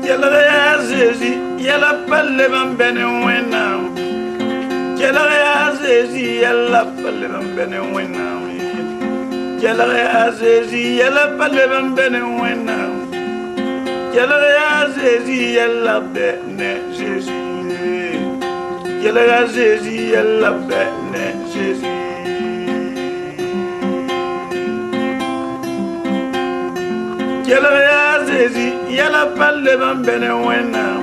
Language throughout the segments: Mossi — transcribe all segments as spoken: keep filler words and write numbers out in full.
Kelg yaa Zezi yɛla pa leb n bɛ ne Wẽnnaam. Kelg yaa Zezi yɛla pa leb n bɛ ne Wẽnnaam ye. Kelg yaa Zezi yɛla pa leb n bɛ ne Wẽnnaam. Kelg yaa Zezi yɛla bɛ ne Zezi ye. Kelg yaa Zezi yɛla bɛ ne Zezi. Kelg yaa Zezi yɛla pa leb n bɛ ne Wẽnnaam.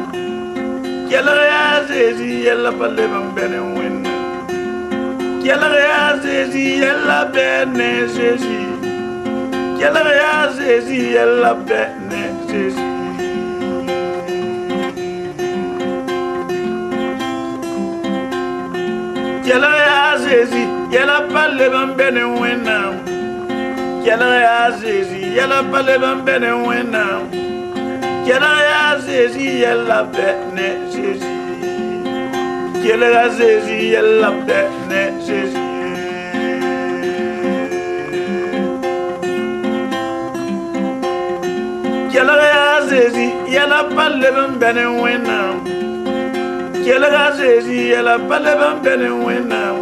Kelg yaa Zezi yɛla pa leb n bɛ ne Wẽnnaam. Kelg yaa Zezi yɛla bɛ ne Zezi. Kelg yaa Zezi yɛla bɛ ne Zezi. Kelg yaa Zezi yɛla pa leb n bɛ ne Wẽnnaam. Kelg yaa Zezi yɛla pa leb n bɛ ne Wẽnnaam. Kelg yaa Zezi yɛla bɛ ne Zezi. Kelg yaa Zezi yɛla bɛ ne Zezi. Kelg yaa Zezi yɛla pa leb n bɛ ne Wẽnnaam. Kelg yaa Zezi yɛla pa leb n bɛ ne Wẽnnaam.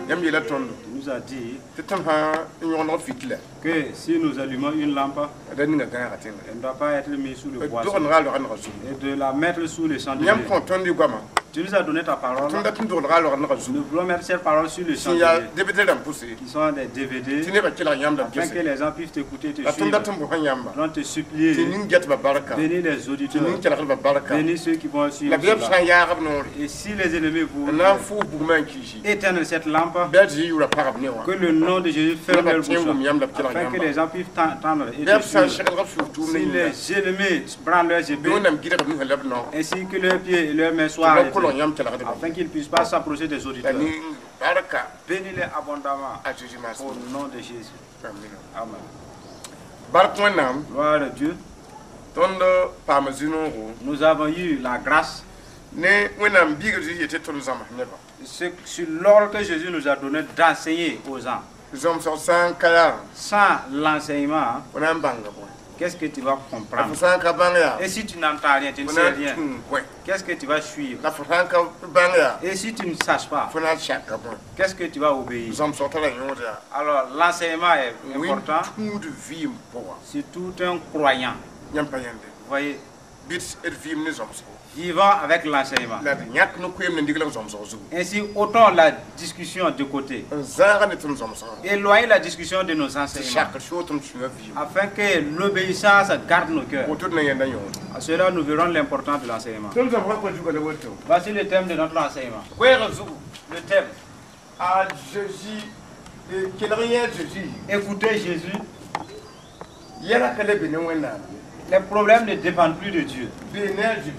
Yãmb yeela tõndo Il nous a dit tɩ tõnd sã n yõgd fitila que si nous allumons une lampe, d ninga gãagã tẽnga elle ne doit pas être mise sous le d boisseau dogendga a loagã nega zugu et de la mettre sous le chandelier. yãmb kõ tõnd y goama Tu nous as donné ta parole. tõnd dat n doglga a loagã nega zugu Nous voulons mettre cette parole sur le sẽn yaa chandelier, D V D rãmb pʋse qui sont des D V D, tɩ nebã kelg yãmb la afin que gese les gens puissent t'écouter et te la tõnd suivre. dat n bʋsã yãmba Nous voulons te tɩ supplier, ning getbã barka bénis les tɩ auditeurs, ning kelgdbã barka bénis ceux qui vont suivre la bɩ b cela. sã n yaag b noore Et si les ennemis vous n na n fʋʋs bugmã n kiisi éteindre cette lampe, bɩ a Zezi yʋʋra pagb ne wã que le nom de Jésus ferme Neba leur tẽ bouche, wʋm yãmb la b kelg afin que yãmba les gens puissent t'entendre et bɩ te b sã n suivre. seglg b sũur tʋʋmdã Si yĩnga les ennemis brandent leurs bɩ épées, Wẽnnaam gɩdg b nusã la b nao ainsi que leurs pieds et leurs mains soient tɩ b arrêtés, kolg yãmb kelgdbã afin qu'ils ne puissent pas s'approcher des la auditeurs. ning barka Bénis-les abondamment a Zezi maas au nom de Jésus. Amina. Amen. Bark Wẽnnaam Gloire à Dieu. tõnd paama zĩ-noogo Nous avons eu la grâce ne Wẽnnaam biiga Zezi yetɩ tõnd zãms nebã ce- sur l'ordre que Jésus nous a donné d'enseigner aux gens. zãmsg sã n ka yaa Sans l'enseignement, fo na n bãnga bõe qu'est-ce que tu vas la comprendre? fo sã n ka bãng yaa Et si tu n'entends rien, tu ne fo sais na n rien, tũu bõe qu'est-ce que tu vas suivre? la fo sã n ka bãng yaa Et si tu ne saches pas, fo na n sakka bõe qu'est-ce que tu vas obéir? zãmsg tara yõod yaa Alors l'enseignement est important Wẽn tũud vɩɩm pʋga sur tout un croyant. yãmb pa yãnde Vous voyez, bɩ d vɩɩm ne zãmsgo vivant avec l'enseignement. la d yãk ne koeem ne diglg zãmsg zugu Ainsi, autant la discussion de côté, n zãaga ne tõnd zãmsgã éloigner la discussion de nos tɩ enseignements, sakr soog tõnd sũyã vɩɩm afin que l'obéissance garde nos cœurs. woto d na yẽnda yõod À cela, nous verrons l'importance de l'enseignement. tõnd zãmsgã kõ zuga la woto Voici le thème de notre enseignement. koɛɛgã zugu Le thème, a Zezi kelg yẽ Zezi écoutez Jésus. yɛla ka le be ne Wẽnnaam ye Les problèmes ne dépendent plus de Dieu, bee ne a Zezi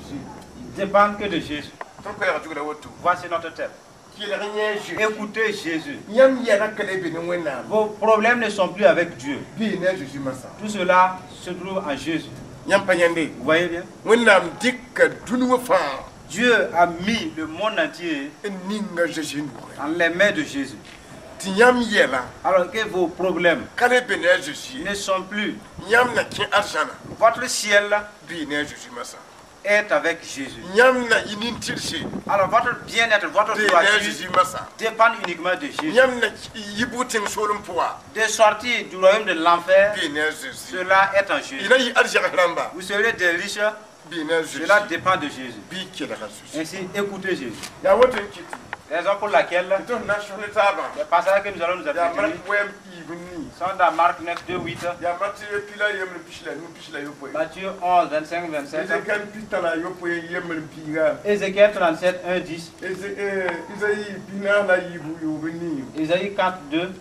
ils dépendent que de Jésus. tõnd koɛɛgã zugu la woto Voici notre thème. kelg yẽ Zezi Écoutez Jésus. yãmb yɛla ka le be ne Wẽnnaam Vos problèmes ne sont plus avec Dieu. bee ne a Zezi masã Tout cela se trouve en Jésus. yãmb pa yãnde Vous voyez bien? Wẽnnaam dɩka dũni wã fãa Dieu a mis le monde entier n ninga Zezi nugẽ dans les mains de Jésus. tɩ yãmb yɛla Alors que vos problèmes ka le be ne a Zezi ye ne sont plus. yãmb na kẽ arzãna Votre ciel bee ne a Zezi masã est avec Jésus. yãmb na yɩ nin-tɩrse Alors votre bien-être, votre bee ne a droiture Zezi masã dépend uniquement de Jésus. yãmb na yɩ bʋg tẽng soolem pʋga De sortir du royaume de l'enfer, bee ne a Zezi cela est en y Jésus. na yɩ arzɛgs rãmba Vous serez des riches, bee ne a Zezi cela dépend de Jésus. bɩ kelga Zezi Ainsi, écoutez Jésus. yaa woto n kɩtɩ Raison pour laquelle tɩ tõnd na n sõs ne taabã les passages que nous allons nous yaa entretenir Mark wɛm piib n nii sont dans Marc neuf, deux, huit, yaa Matthieu pila yembr pis la nu pis la yopoe Matthieu onze, vingt-cinq, vingt-sept, Ezekiel pita la yopoe yembr n piiga Ézéchiel trente-sept, un, dix, Isaïe pinaas la yiibu yoob n nii Ésaïe quatre, deux,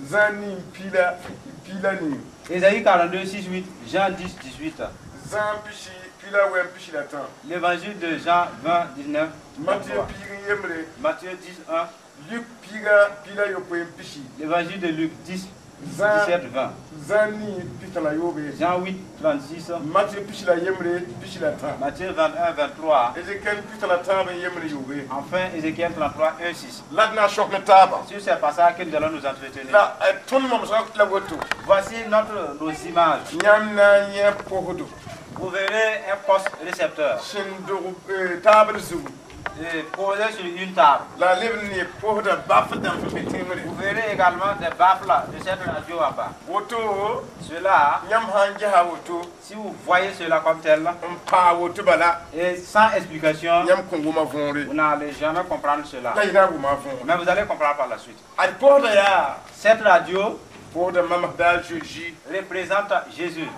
Zã nin pila pila nii Ésaïe quarante-deux, six, huit, Jean dix, dix-huit, Zã pisi pila wɛm pisi la tã L'évangile de Jean vingt, dix-neuf, Matthieu vingt-trois. piig n yembre Matthieu dix, un, Luc piiga pila yopoe n pisi L'évangile de Luc dix, Zã dix-sept, vingt, Zã nin pita la yoobe Jean huit, trente-six, Matthieu pisi la yembre pisi la tã Matthieu vingt-et-un, vingt-trois, Ezekiel pita la tãab n yembre yoobe enfin Ézéchiel trente-trois, un, six. la d na n sõs ne taabã Sur ces passages que nous allons nous entretenir. la tõnd momsgã la woto Voici notre, nos images. yãmb na n yẽ posdo Vous verrez un poste récepteur sẽn dog eh, taabr zugu et posé sur une table. La a leb n ne posda baf dãmb sẽn be tẽngre. Vous verrez également des baffles de cette radio en bas. Woto Cela, yãmb sã n gesa woto si vous voyez cela comme tel, n paa woto bala et sans explication, yãmb kõn wʋma võore. Vous n'allez jamais comprendre cela. La y na n wʋma võore. Mais vous allez comprendre par la suite. Ad posda yaa Cette radio posda mamsda a Jésus représente Jésus.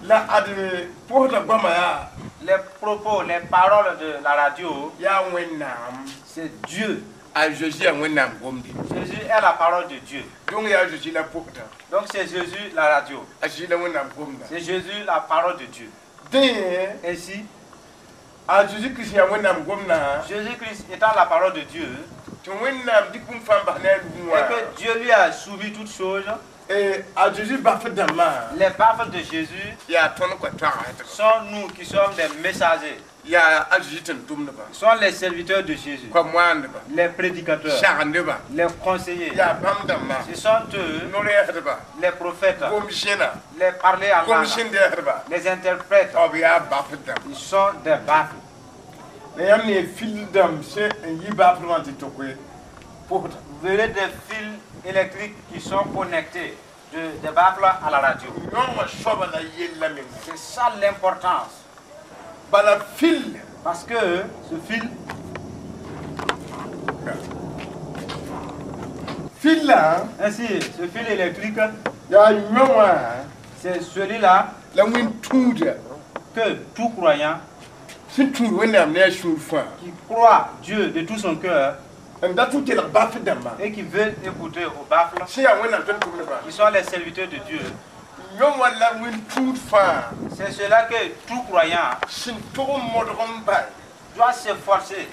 La ad posda goama yaa Les propos, les paroles de la radio, yaa Wẽnnaam. C'est Dieu. A Jésus yaa Wẽnnaam gomde. Jésus est la parole de Dieu. Donc yaa Jésus la posda. Donc c'est Jésus la radio. A Jésus la Wẽnnaam gomda. C'est Jésus la parole de Dieu. Dẽ Ainsi, a Jésus Kirist yaa Wẽnnaam gomda Jésus-Christ étant la parole de Dieu, tɩ Wẽnnaam dɩk bũmb fãa n bas ne a nugẽ et wã que Dieu lui a soumis toutes choses, Eh, a Jésus baf dãmbã les baffles de Jésus yaa tõnd kõ toagsdba sont nous qui sommes des messagers, yaa a Jésus tẽn-tʋmdba sont les serviteurs de Jésus, kõ-moandba les prédicateurs, sagendba les conseillers. yaa bãmb dãmbã Ce sont eux, no-rɛɛsdba les prophètes, gom-zẽna les parlers en langue, gom-sẽn-dɛɛsdba les interprètes. b yaa baf dãmb. Ils sont des baffles. La yãmb ne fil dãmb sẽn n yi bafd wã tɩ tʋk posda. Vous verrez des fils électriques qui sont connectés de, des baffles à la radio. Yõ wã soaba la yella menga. C'est ça l'importance. Bala fil Parce que ce fil, fil-la ainsi, ce fil électrique, yaa yõ wã c'est celui-là la wẽn-tũuda que tout croyant sẽn tũud Wẽnnaam ne a sũur fãa qui croit Dieu de tout son cœur n dat n kelg baf dãmbã et qui veut écouter aux baffles, sẽn yaa Wẽnnaam tʋm-tʋmdbã qui sont les serviteurs de Dieu, yõ wã la wẽn-tũud fãa c'est cela que tout croyant sẽn tog n modg n bal doit s'efforcer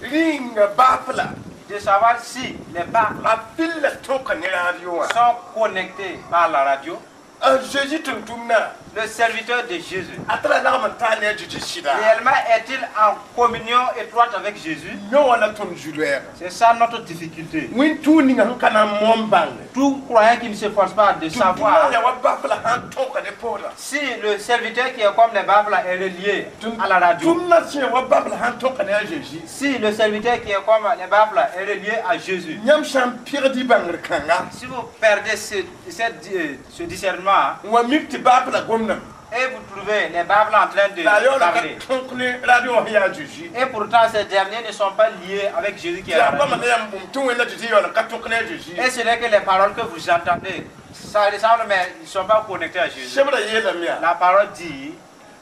rĩnga bafla de savoir si les baffles a fil-la tõka ne radio wã. Sont connectés par la radio. A Jésus tʋm-tʋmdã Le serviteur de Jésus, a tara lagm n taa ne a Jésus sɩda. Réellement est-il en communion étroite avec Jésus? Yõ wã la tõnd zu-loɛɛga. C'est ça notre difficulté. Wẽn-tũud ninga sẽn ka na n moam bãnge Tout croyant qui ne s'efforce pas de savoir yaa wa bafla sãn tõka ne posda si le serviteur qui est comme les baffles est relié à la radio, tʋmdã sẽn ya wa bafla sãn tõka ne a Jésus si le serviteur qui est comme les baffles est relié à Jésus, yãmb sã n pɩgd y bãngr kãnga si vous perdez ce, cette- euh, ce discernement n wa mik tɩ bafla gomdame et vous trouvez les baffles en train de la a yaoola ka parler, tõk ne radio wã sẽn yaa Jésus et pourtant ces derniers ne sont pas liés avec Jésus qui est yaa la bãmba radio. la yãmb bũmb tɩ Wẽnda Jésus yaool n ka tõk ne a Jésus. Et ce n'est que les paroles que vous entendez, ça ressemble, mais ils ne sont pas connectés à Jésus. Sebrã yeelame yaa La parole dit,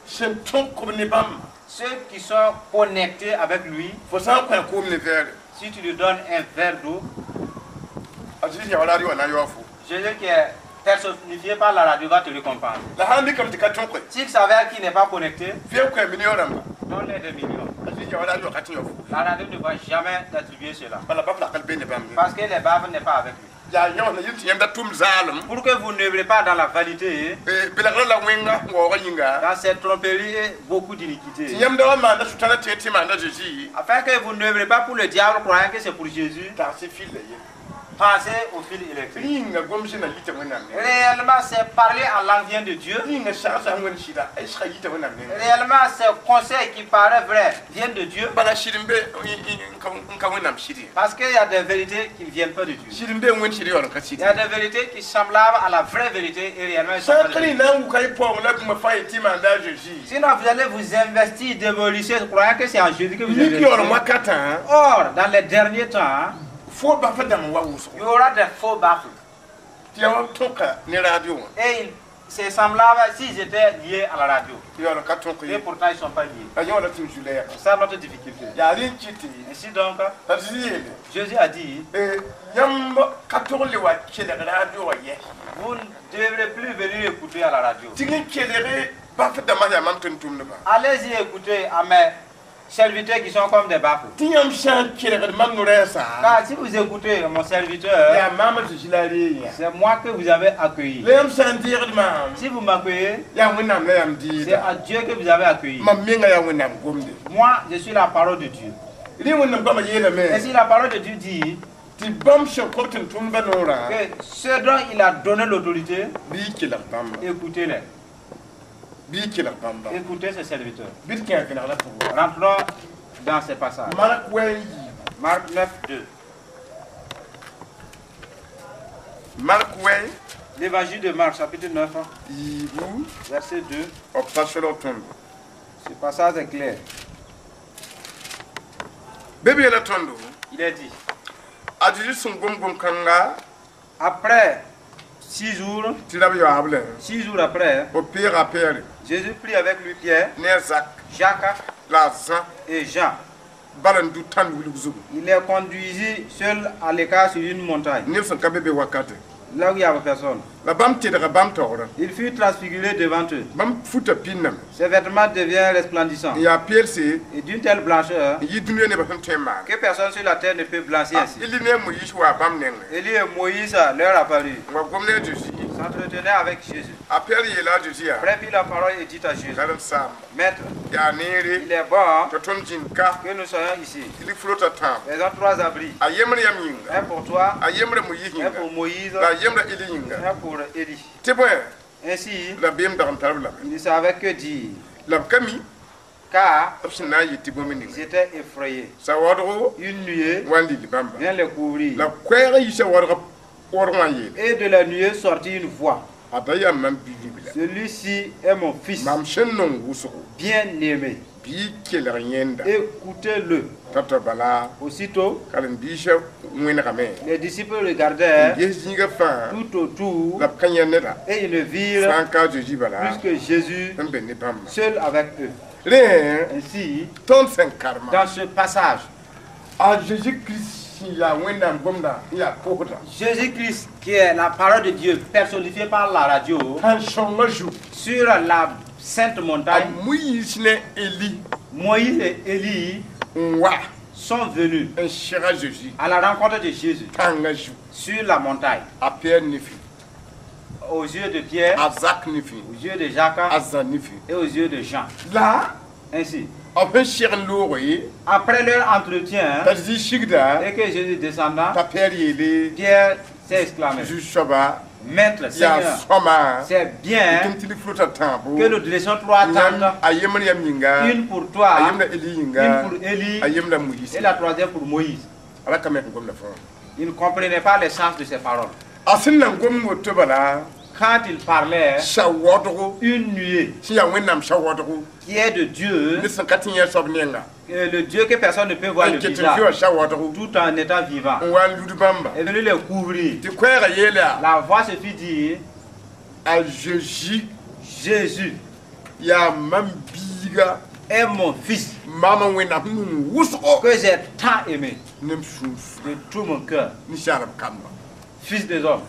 sẽn tõk b ne bãmb ceux qui sont connectés avec lui, fo sã n kõ a koom ne vɛɛre si tu lui donnes un verre d'eau, a Jésus yaa wa radio wã na n yaoog fo. Jésus qui est personnifié par la radio va te récompenser. La sãn dɩkame tɩ ka tõke S'il s'avère qu'il n'est pas connecté, fɩ kõ a million rãmba donne-les des millions. a Jésus yaa wa radio wã ka tɩ yaoog fo. La radio ne va jamais t'attribuer cela. Bala bafla ka be ne bãmb ye. Parce que les baves n'est pas avec lui. Yaa yõ na yɩl tɩ yãmb da tʋm zaalem Pour que vous n'œuvrez pas dans la vanité, belgrã la wẽnga waoogã yĩnga dans cette tromperie et beaucoup tɩ d'iniquité. yãmb da wa maanda sʋtãna tẽeg tɩ maanda Jésus Afin que vous n'œuvrez pas pour le diable croyant que c'est pour Jésus, tagsɩ fil-la ye pensez au fil électrique. Rĩnga gom-sẽna yita Wẽnnaam nengẽ. Réellement, c'est parler en langue vient de Dieu. Rĩnga sagsã wẽnd sɩda a sga yita Wẽnnaam nengẽ. Réellement, ces conseils qui paraissent vrais viennent de Dieu. Bala sɩd n be n ka Wẽnnaam sɩd ye. Parce qu'il y a des vérités qui ne viennent pas de Dieu. Sɩd n be wẽnd sɩd yaool n ka Il sɩd. y a des vérités qui semblables à la vraie vérité et réellement elles sont Sã pas n de ka Dieu. rẽ na n wuka y paoong la bũmb fãa ye tɩ maanda a Jésus Sinon, vous allez vous investir, démolir, croyant que c'est en Jésus que vous mik yaool investissez. wakatã Or, dans les derniers temps, fo baf dãmb wa wʋsgo il y aura des faux baffles. Tɩ yaa wa tõka ne radio wã. Et ils- c'est semblable s'ils étaient liés à la radio. Tɩ yaool n ka tõk Et ye. pourtant, ils ne sont pas liés. A yõ la tɩ m zu-lɛɛga. C'est ça notre difficulté. Yaa rẽ n kɩt tɩ Ainsi donc, t'a Zezi yeele Jésus a dit, yãmb ka tog n le wa kelg radio wã yɛ. Vous ne devrez plus venir écouter à la radio. Tɩ n kelg baf dãmbã yaa mam tʋm-tʋmdbã. Allez-y écouter à mes serviteurs qui sont comme des baffles. Tɩ yãmb sã n kelgd mam no-rɛɛsã Car si vous écoutez mon serviteur, yaa maam Zezi la reeg yã. C'est moi que vous avez accueilli. La yãmb sã n deegd maam Si vous m'accueillez, yaa Wẽnnaam la yãmb c'est dɩɩda. à Dieu que vous avez accueilli. Mam menga yaa Wẽnnaam gomde. Moi, je suis la parole de Dieu. Rẽ Wẽnnaam goamã yeelame Et si la parole de Dieu dit tɩ bãmb sẽn kõt tɩ tʋmdbã noorã que ce dont il a donné l'autorité, bɩ y kelg bãmba. Écoutez-les. Bɩ y kelg bãmba. Écoutez ce serviteur. Bɩ d kẽ a vẽnegrã pʋgẽ. Rentrons dans ces passages. Mark wɛ n yiibu. Marc neuf, deux. Mark wɛ L'évangile de Marc, chapitre neuf, yiibu verset deux. B pa solg tõndo. Ce passage est clair. Be b yeela tõndo. Il est dit, A Zeezi sẽn gom gom-kãnga après six jours, tɩ ra b yaoog lɛ. Six jours après, B peega a Pɛɛre Jésus prit avec lui Pierre, ne a Zak Jacques la a Zã et Jean. Bala n du tãnd wilg zugu. Il les conduisit seul à l'écart sur une montagne, Neb sẽn ka be be wakate. Là où il n'y avait personne. La bãmb tedga bãmb taoorã. Il fut transfiguré devant eux. Bãmb futa pĩnname. Ses vêtements deviennent resplendissants N yaa peelse et d'une telle blancheur n yɩ dũniyã nebã sẽn tõe n maane. Que personne sur la terre ne peut blanchir ainsi. Eli ne a Moyiis waa bãmb nengẽ. Élie et Moïse leur apparurent, N wa gom ne a Zeezi. S'entretenaient avec Jésus. A Pɛɛr yeela a Zeezi yaa. Après prit la parole et dit à Jésus, Karen-saamba. Maître, Yaa neere. Il est bon Tɩ tõnd zĩnd ka. Que nous soyons ici. Tɩ lik-fulotã tãabo. Faisons trois abris. A yembr yam yĩnga. Un pour toi, A yembra Moyiis un yĩnga. pour Moïse, La a yembra Eli yĩnga. Un pour Élie. Tɩ bõe Ainsi, rabeem dag n tar b lame. Il ne savait que dire, La b ka mi car b sẽn na n yɩ tɩ bũmb ils ninga. Étaient effrayés. Sawaoodgo Une nuée wa n lil bãmba. Vient les couvrir. La koɛɛg yiisa waoodg waoodg wã n yeele. Et de la nuée sortit une voix. A da yaa mam bi-ribla. Celui-ci est mon fils, Mam sẽn nong wʋsgo. Bien-aimé. Bɩ y kelg yẽnda. Écoutez-le. T'a bala Aussitôt, karen-biisã wẽnegame. Les disciples regardèrent Ges zĩigã fãa tout autour la b ka yẽ neda. Et ils ne virent Sã n ka a Zeezi bala plus que Jésus n be ne bãmba. Seul avec eux. Rẽ Ainsi, tõnd sẽn karema. Dans ce passage, A Jésus Christ sẽn yaa Wẽnnaam gomda n yaa pʋgda. Jésus-Christ, qui est la parole de Dieu personnifiée par la radio, Tãn-sõngã zugu. Sur la sainte A montagne, Moyiis ne Eli Moïse et Élie n wa sont venus n seg a Zeezi à la rencontre de Jésus tãngã zugu. Sur la montagne. A Pɛɛr nifẽ. Aux yeux de Pierre, A Zak nifẽ. Aux yeux de Jacques A Zã nifẽ. Et aux yeux de Jean. La Ainsi, b sẽn seg n loogo ye après leur entretien, t'a Zeezi sigda et que Jésus descenda, t'a Pɛɛr yeele Pierre s'est exclamé, zu-soaba Maître, yaa Seigneur, sõma c'est bien tɩ tɩ lik-fulotã tãabo que nous dressions trois tentes, a yembr yam yĩnga une pour toi, a yembra Eli yĩnga une pour Élie a yembra Moyiis et la troisième pour Moïse. Ala ka me sẽn gomda fãa. Il ne comprenait pas le sens de ces paroles. A sẽn na n gom woto bala Quand il parlait, sawaoodgo une nuée sẽn yaa Wẽnnaam sawaoodgo qui est de Dieu, ned sẽn ka tɩ yẽ soab nenga euh, le Dieu que personne ne peut voir n le ket n visage, fɩ wã sawaoodgo tout en étant vivant, n wa n lud bãmba est venu les couvrir. Tɩ koɛɛgã yeel yaa La voix se fit dire, a Zeezi Jésus yaa mam biiga est mon fils maama Wẽnnaam nung wʋsgo que j'ai tant aimé ne m sũur de tout mon cœur, ninsaalb kamba. Fils des hommes.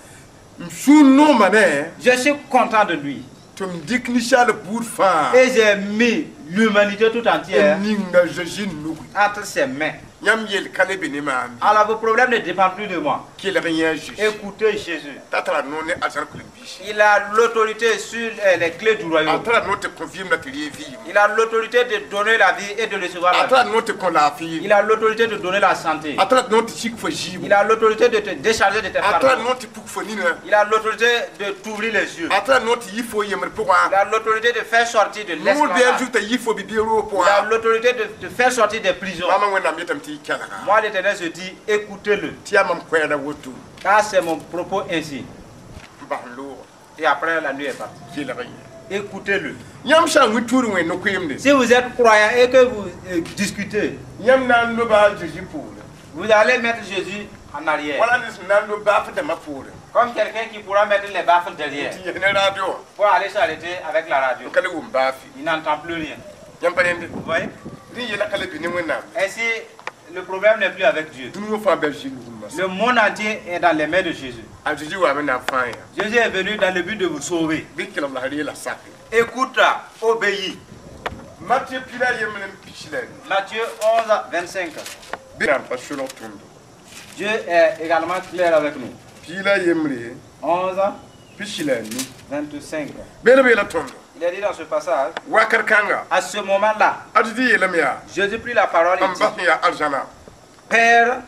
M sũur nooma ne Je suis content de lui. Tɩ m dɩk ninsaal buud fãa Et j'ai mis l'humanité tout entière n ninga Zeezi nugi. Entre ses mains. Yãmb yel ka le be ne maam. Alors vos problèmes ne dépendent plus de moi. Kelg yẽ Zeezi. Écoutez Jésus. T'a tara noor ne arzãn kolem-biis. Il a l'autorité sur euh, les clés du A royaume. tara noor tɩ kõ vɩɩm la tɩ reeg vɩɩm. Il a l'autorité de donner la vie et de recevoir A la vie. tara noor tɩ kõ laafɩ. Il a l'autorité de donner la santé. A tara noor tɩ sik fo zɩɩbo. Il a l'autorité de te décharger de tes A tara fardeaux. noor tɩ puk fo nina. Il a l'autorité de t'ouvrir les yeux. A tara noor tɩ yi fo yembr pʋgã. Il a l'autorité de faire sortir de Noor bɩ a l'esclavage. zug t'a yi fo bi-biig roog Il a pʋgã. l'autorité de te faire sortir des prisons. Maamã Wẽnnaam yetame tɩ y kelga. Moi, l'Éternel, je dis, écoutez-le. Tɩ yaa mam koɛɛda woto. Car c'est mon propos ainsi. N bas n looga. Et après, la nuit est partie. Kelg yẽ. Écoutez-le. Yãmb sã n wĩ tuur wẽnd no-koeemde. Si vous êtes croyant et que vous euh, discutez, Yãmb na n loba a Zeezi poore. Vous allez mettre Jésus en arrière. Wala ned sẽn na n lob baaf dãmbã poore. Comme quelqu'un qui pourra mettre les baffles derrière Tɩ yɛs ne radio wã. Pour aller s'arrêter avec la radio. N ka le wʋm baafe. Il n'entend plus rien. Yãmb pa rẽnde. Vous voyez? Rẽ yɛla ka le be ne Wẽnnaam. Ainsi, le problème n'est plus avec Dieu. Dũni wã fãa bɩ a Zeezi nugẽ Le monde entier est dans les mains de Jésus. A Zeezi waame na n fãa yã. Jésus est venu dans le but de vous sauver. Bɩ kelg la reela sake. Écoute, obéis. Matɩ pila yembr n pis la nu. Matthieu onze, vingt-cinq. Bɩ na n pa solg tõndo. Dieu est également clair avec nous. Piila yembre onze, pis la nu. vingt-cinq. Beelb yeela tõndo. Il est dit dans ce passage, Wakat kãnga. À ce moment-là, A Zeezi yeelame yaa. Jésus prit la parole et N dit, bas sẽn yaa arzãna. Père,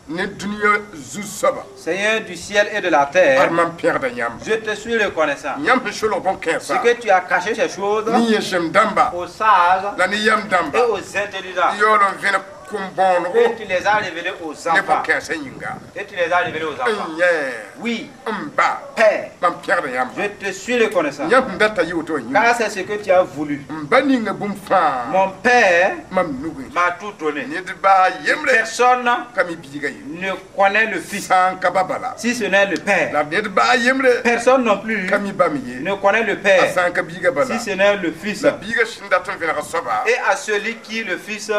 Ne dũniyã zu-soaba. Seigneur du ciel et de la terre, Ad mam pẽgda yãmba. Je te suis reconnaissant. Yãmb sẽn solg Ce bõn-kãensã que tu as caché ces choses ne yẽsem dãmba aux sages la ne yam et dãmba aux intelligents. n yaool n vẽneg kom-bõonego Et tu les as révélés aux ne enfants. bõn-kãensã yĩnga. Et tu les as révélés aux enfants. N yẽ Oui, n ba Père, mam pẽgda yãmba. Je te suis reconnaissant. Yãmb sẽn data yɩ woto wã yĩnga. Car c'est ce que tu as voulu. M ba ninga bũmb fãa Mon Père mam nugẽ. M'a tout donné. Ned baa yembre Personne ka mi biiga ye ne connaît le Fils sã n ka ba bala. Si ce n'est le Père. La ned baa yembre Personne non plus ka mi ba me ye ne connaît le a Père sã n ka biiga bala. Si ce n'est le Fils. La biiga sẽn dat n vẽneg soaba Et à celui qui le Fils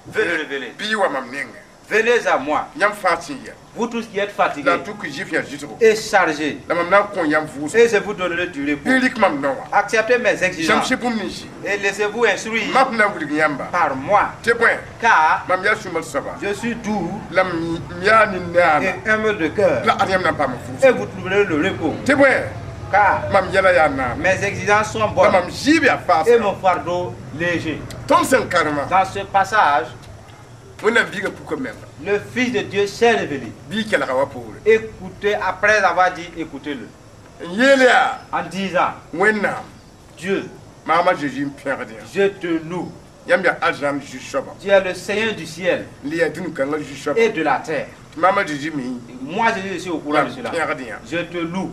veut le révéler. Bɩ y wa mam nengẽ. Venez à moi, Yãmb fãa sẽn yɛ vous tous qui êtes la fatigués tʋk zɩf yã zɩsgo et chargés, la mam na n kõ yãmb vʋʋsgo. Et je vous donnerai du repos. Bɩ rɩk mam nao wã. Acceptez mes exigences Zãmsɩ bũmb ninsi et laissez-vous instruire mam sẽn na n wilg yãmba par moi, tɩ bõe car mam yaa sũ-mar soaba je suis doux la m yaa nin-naana et humble de cœur, la ad yãmb na n paam et vʋʋsgo vous trouverez le repos. Tɩ bõe Car mam yɛla yaa naana mes exigences sont la bonnes mam zɩɩb yaa et faasga. Mon fardeau léger. Tõnd sẽn karema Dans ce passage, Wẽnnaam biiga puka menga. Le Fils de Dieu s'est révélé. Bɩ kelga wa poore. Écoutez, après avoir dit, écoutez-le. N yeel yaa En disant, Wẽnnaam Dieu, maama Zeezi n pẽgd yã. Je te loue. Yãmb yaa arzãn zu-soaba. Tu es le Seigneur du ciel N le yaa dũni-kãngã zu-soaba. Et de la terre. Tɩ maama Zeezi mi Moi, Jésus, je suis au courant de cela. pẽgd yã. Je te loue.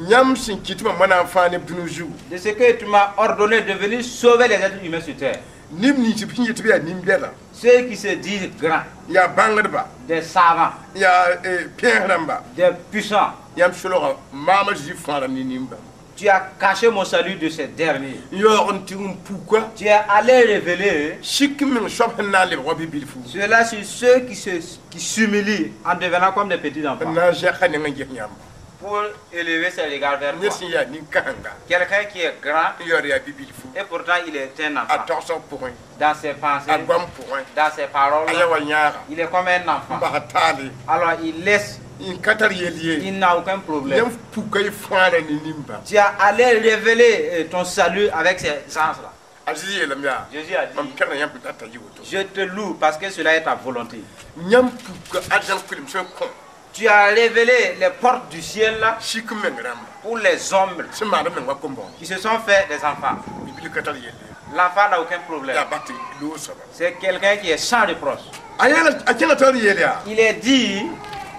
Yãmb sẽn kɩt tɩ mam wa na n fãag neb dũni zugu. De ce que tu m'as ordonné de venir sauver les êtres humains sur terre. Neb nins b sẽn yet tɩ b yaa nin-bɛda Ceux qui se disent grands, yaa bãngdba des savants, yaa pẽes rãmba des puissants, yãmb solga maama Zeezi fãagra ne nin-bãmb. Tu as caché mon salut de ces derniers. N yaoog n tɩg n puka Tu es allé révéler sik meng soab sẽn na n lebg wa bi-bilfu cela sur ceux qui se, qui s'humilient en devenant comme des petits n enfants na n zɛka neng n ges yãmba. Pour élever ses regards vers Ned toi. sẽn yaa nin-kãsenga Quelqu'un qui est grand n yaood yaa bi-bilfu et pourtant il est un a enfant. togsg pʋgẽ Dans ses pensées, a goam pʋgẽ dans ses paroles, a ya wa yãaga il est comme un n enfant. basa taale Alors il laisse, n ka tar yel ye il n'a aucun problème. Yãmb puka y fãagra ne nin-bãmb. Tu as allé révéler euh, ton salut avec ces gens-là. A Zezi yeelame yaa Jésus a dit, mam pẽgda yãmb sẽn data yɩ woto. Je te loue parce que cela est ta volonté. Yãmb puka arzãn kʋlem sẽn kõ Tu as révélé les portes du ciel là sik meng rãmba pour les hommes sẽn maand meng wa kom-bõogo. Qui se sont fait des enfants. Bi-bil ka tar yelle ye. L'enfant n'a aucun problème. Yaa bat loog soaba. C'est quelqu'un qui est sans reproche. A yɛla a kẽnga taoor yeel yaa Il est dit,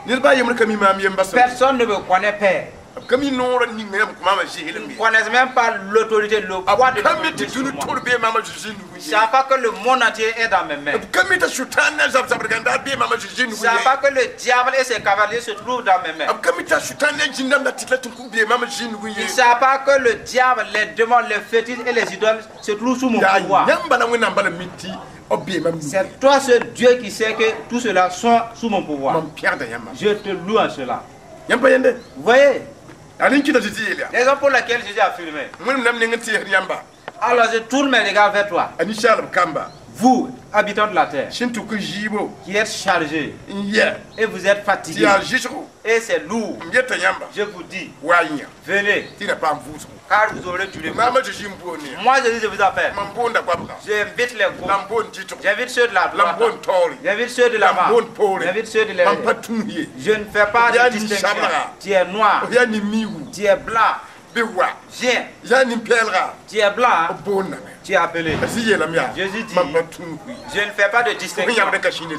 ned baa yembr ka mi maam yemba sẽn personne ne me connaît Père. B ka mi noorã ninga yãmb kõ maama zɩɩsem Ils ne ye. Connaissent même pas l'autorité, le poids de B ka mi l'autorité tɩ sur dũni moi. tʋr bee maama Zeezi nug Ils ne ye. savent pas que le monde entier est dans mes mains. B ka mi t'a sʋtãan na zab-zabdg n daar bee maama Zeezi Ils ne nug savent ye. pas que le diable et ses cavaliers se trouvent dans mes mains. B ka mi t'a sʋtãan ne zĩndame la tɩt la tɩ bee maama Zeezi nug Ils ye. ne savent pas que le diable, les démons, les fétiches et les idoles se trouvent sous mon Yaa pouvoir. yãmb bala Wẽnnaam bala mi tɩ b bee mam nug ye. C'est toi seul Dieu qui sait que tout cela sont sous mon pouvoir. Mam pẽgda yãmba. Je te loue en cela. Yãmb pa yẽnde. Vous voyez, Yaa rẽn kɩta tɩ tɩ yeel yaa raison pour laquelle Jésus a affirmé. Wẽnnaam nam neng n tɩɩsd yãmba Alors je tourne mes regards vers toi, a ninsaalb kamba vous, habitants de la terre, sẽn tʋk zɩɩbo qui êtes chargés n yɛ et vous êtes tɩ fatigués, yaa zɩsgo et c'est lourd. M yeta yãmba Je vous dis, wa yã venez, tɩ na paam vʋʋsgo. Car vous aurez du repos. Maama Zeezi n boond yã. Moi, Jésus, je vous appelle. Mam boonda goabga. J'invite les La m groupes. boond dɩtgo. J'invite ceux de la La m droite. boond taoore. J'invite ceux de La m l'avant. boond poore. J'invite ceux de Mam pa l'arrière. tũus ye. Je ne fais pas Ya de ni distinction. sabra. Tu es noir, F yaa nin-miigu. Tu es blanc. Bɩ wa. Viens. Yaa nin-pɛɛlga. Tu es blanc, B boondame. Tu es appelé. A Zĩ yeelame yaa Jésus dit, mam pa tũus ye. Je ne fais pas de Fo sẽn distinction. yãbd n ka sĩnd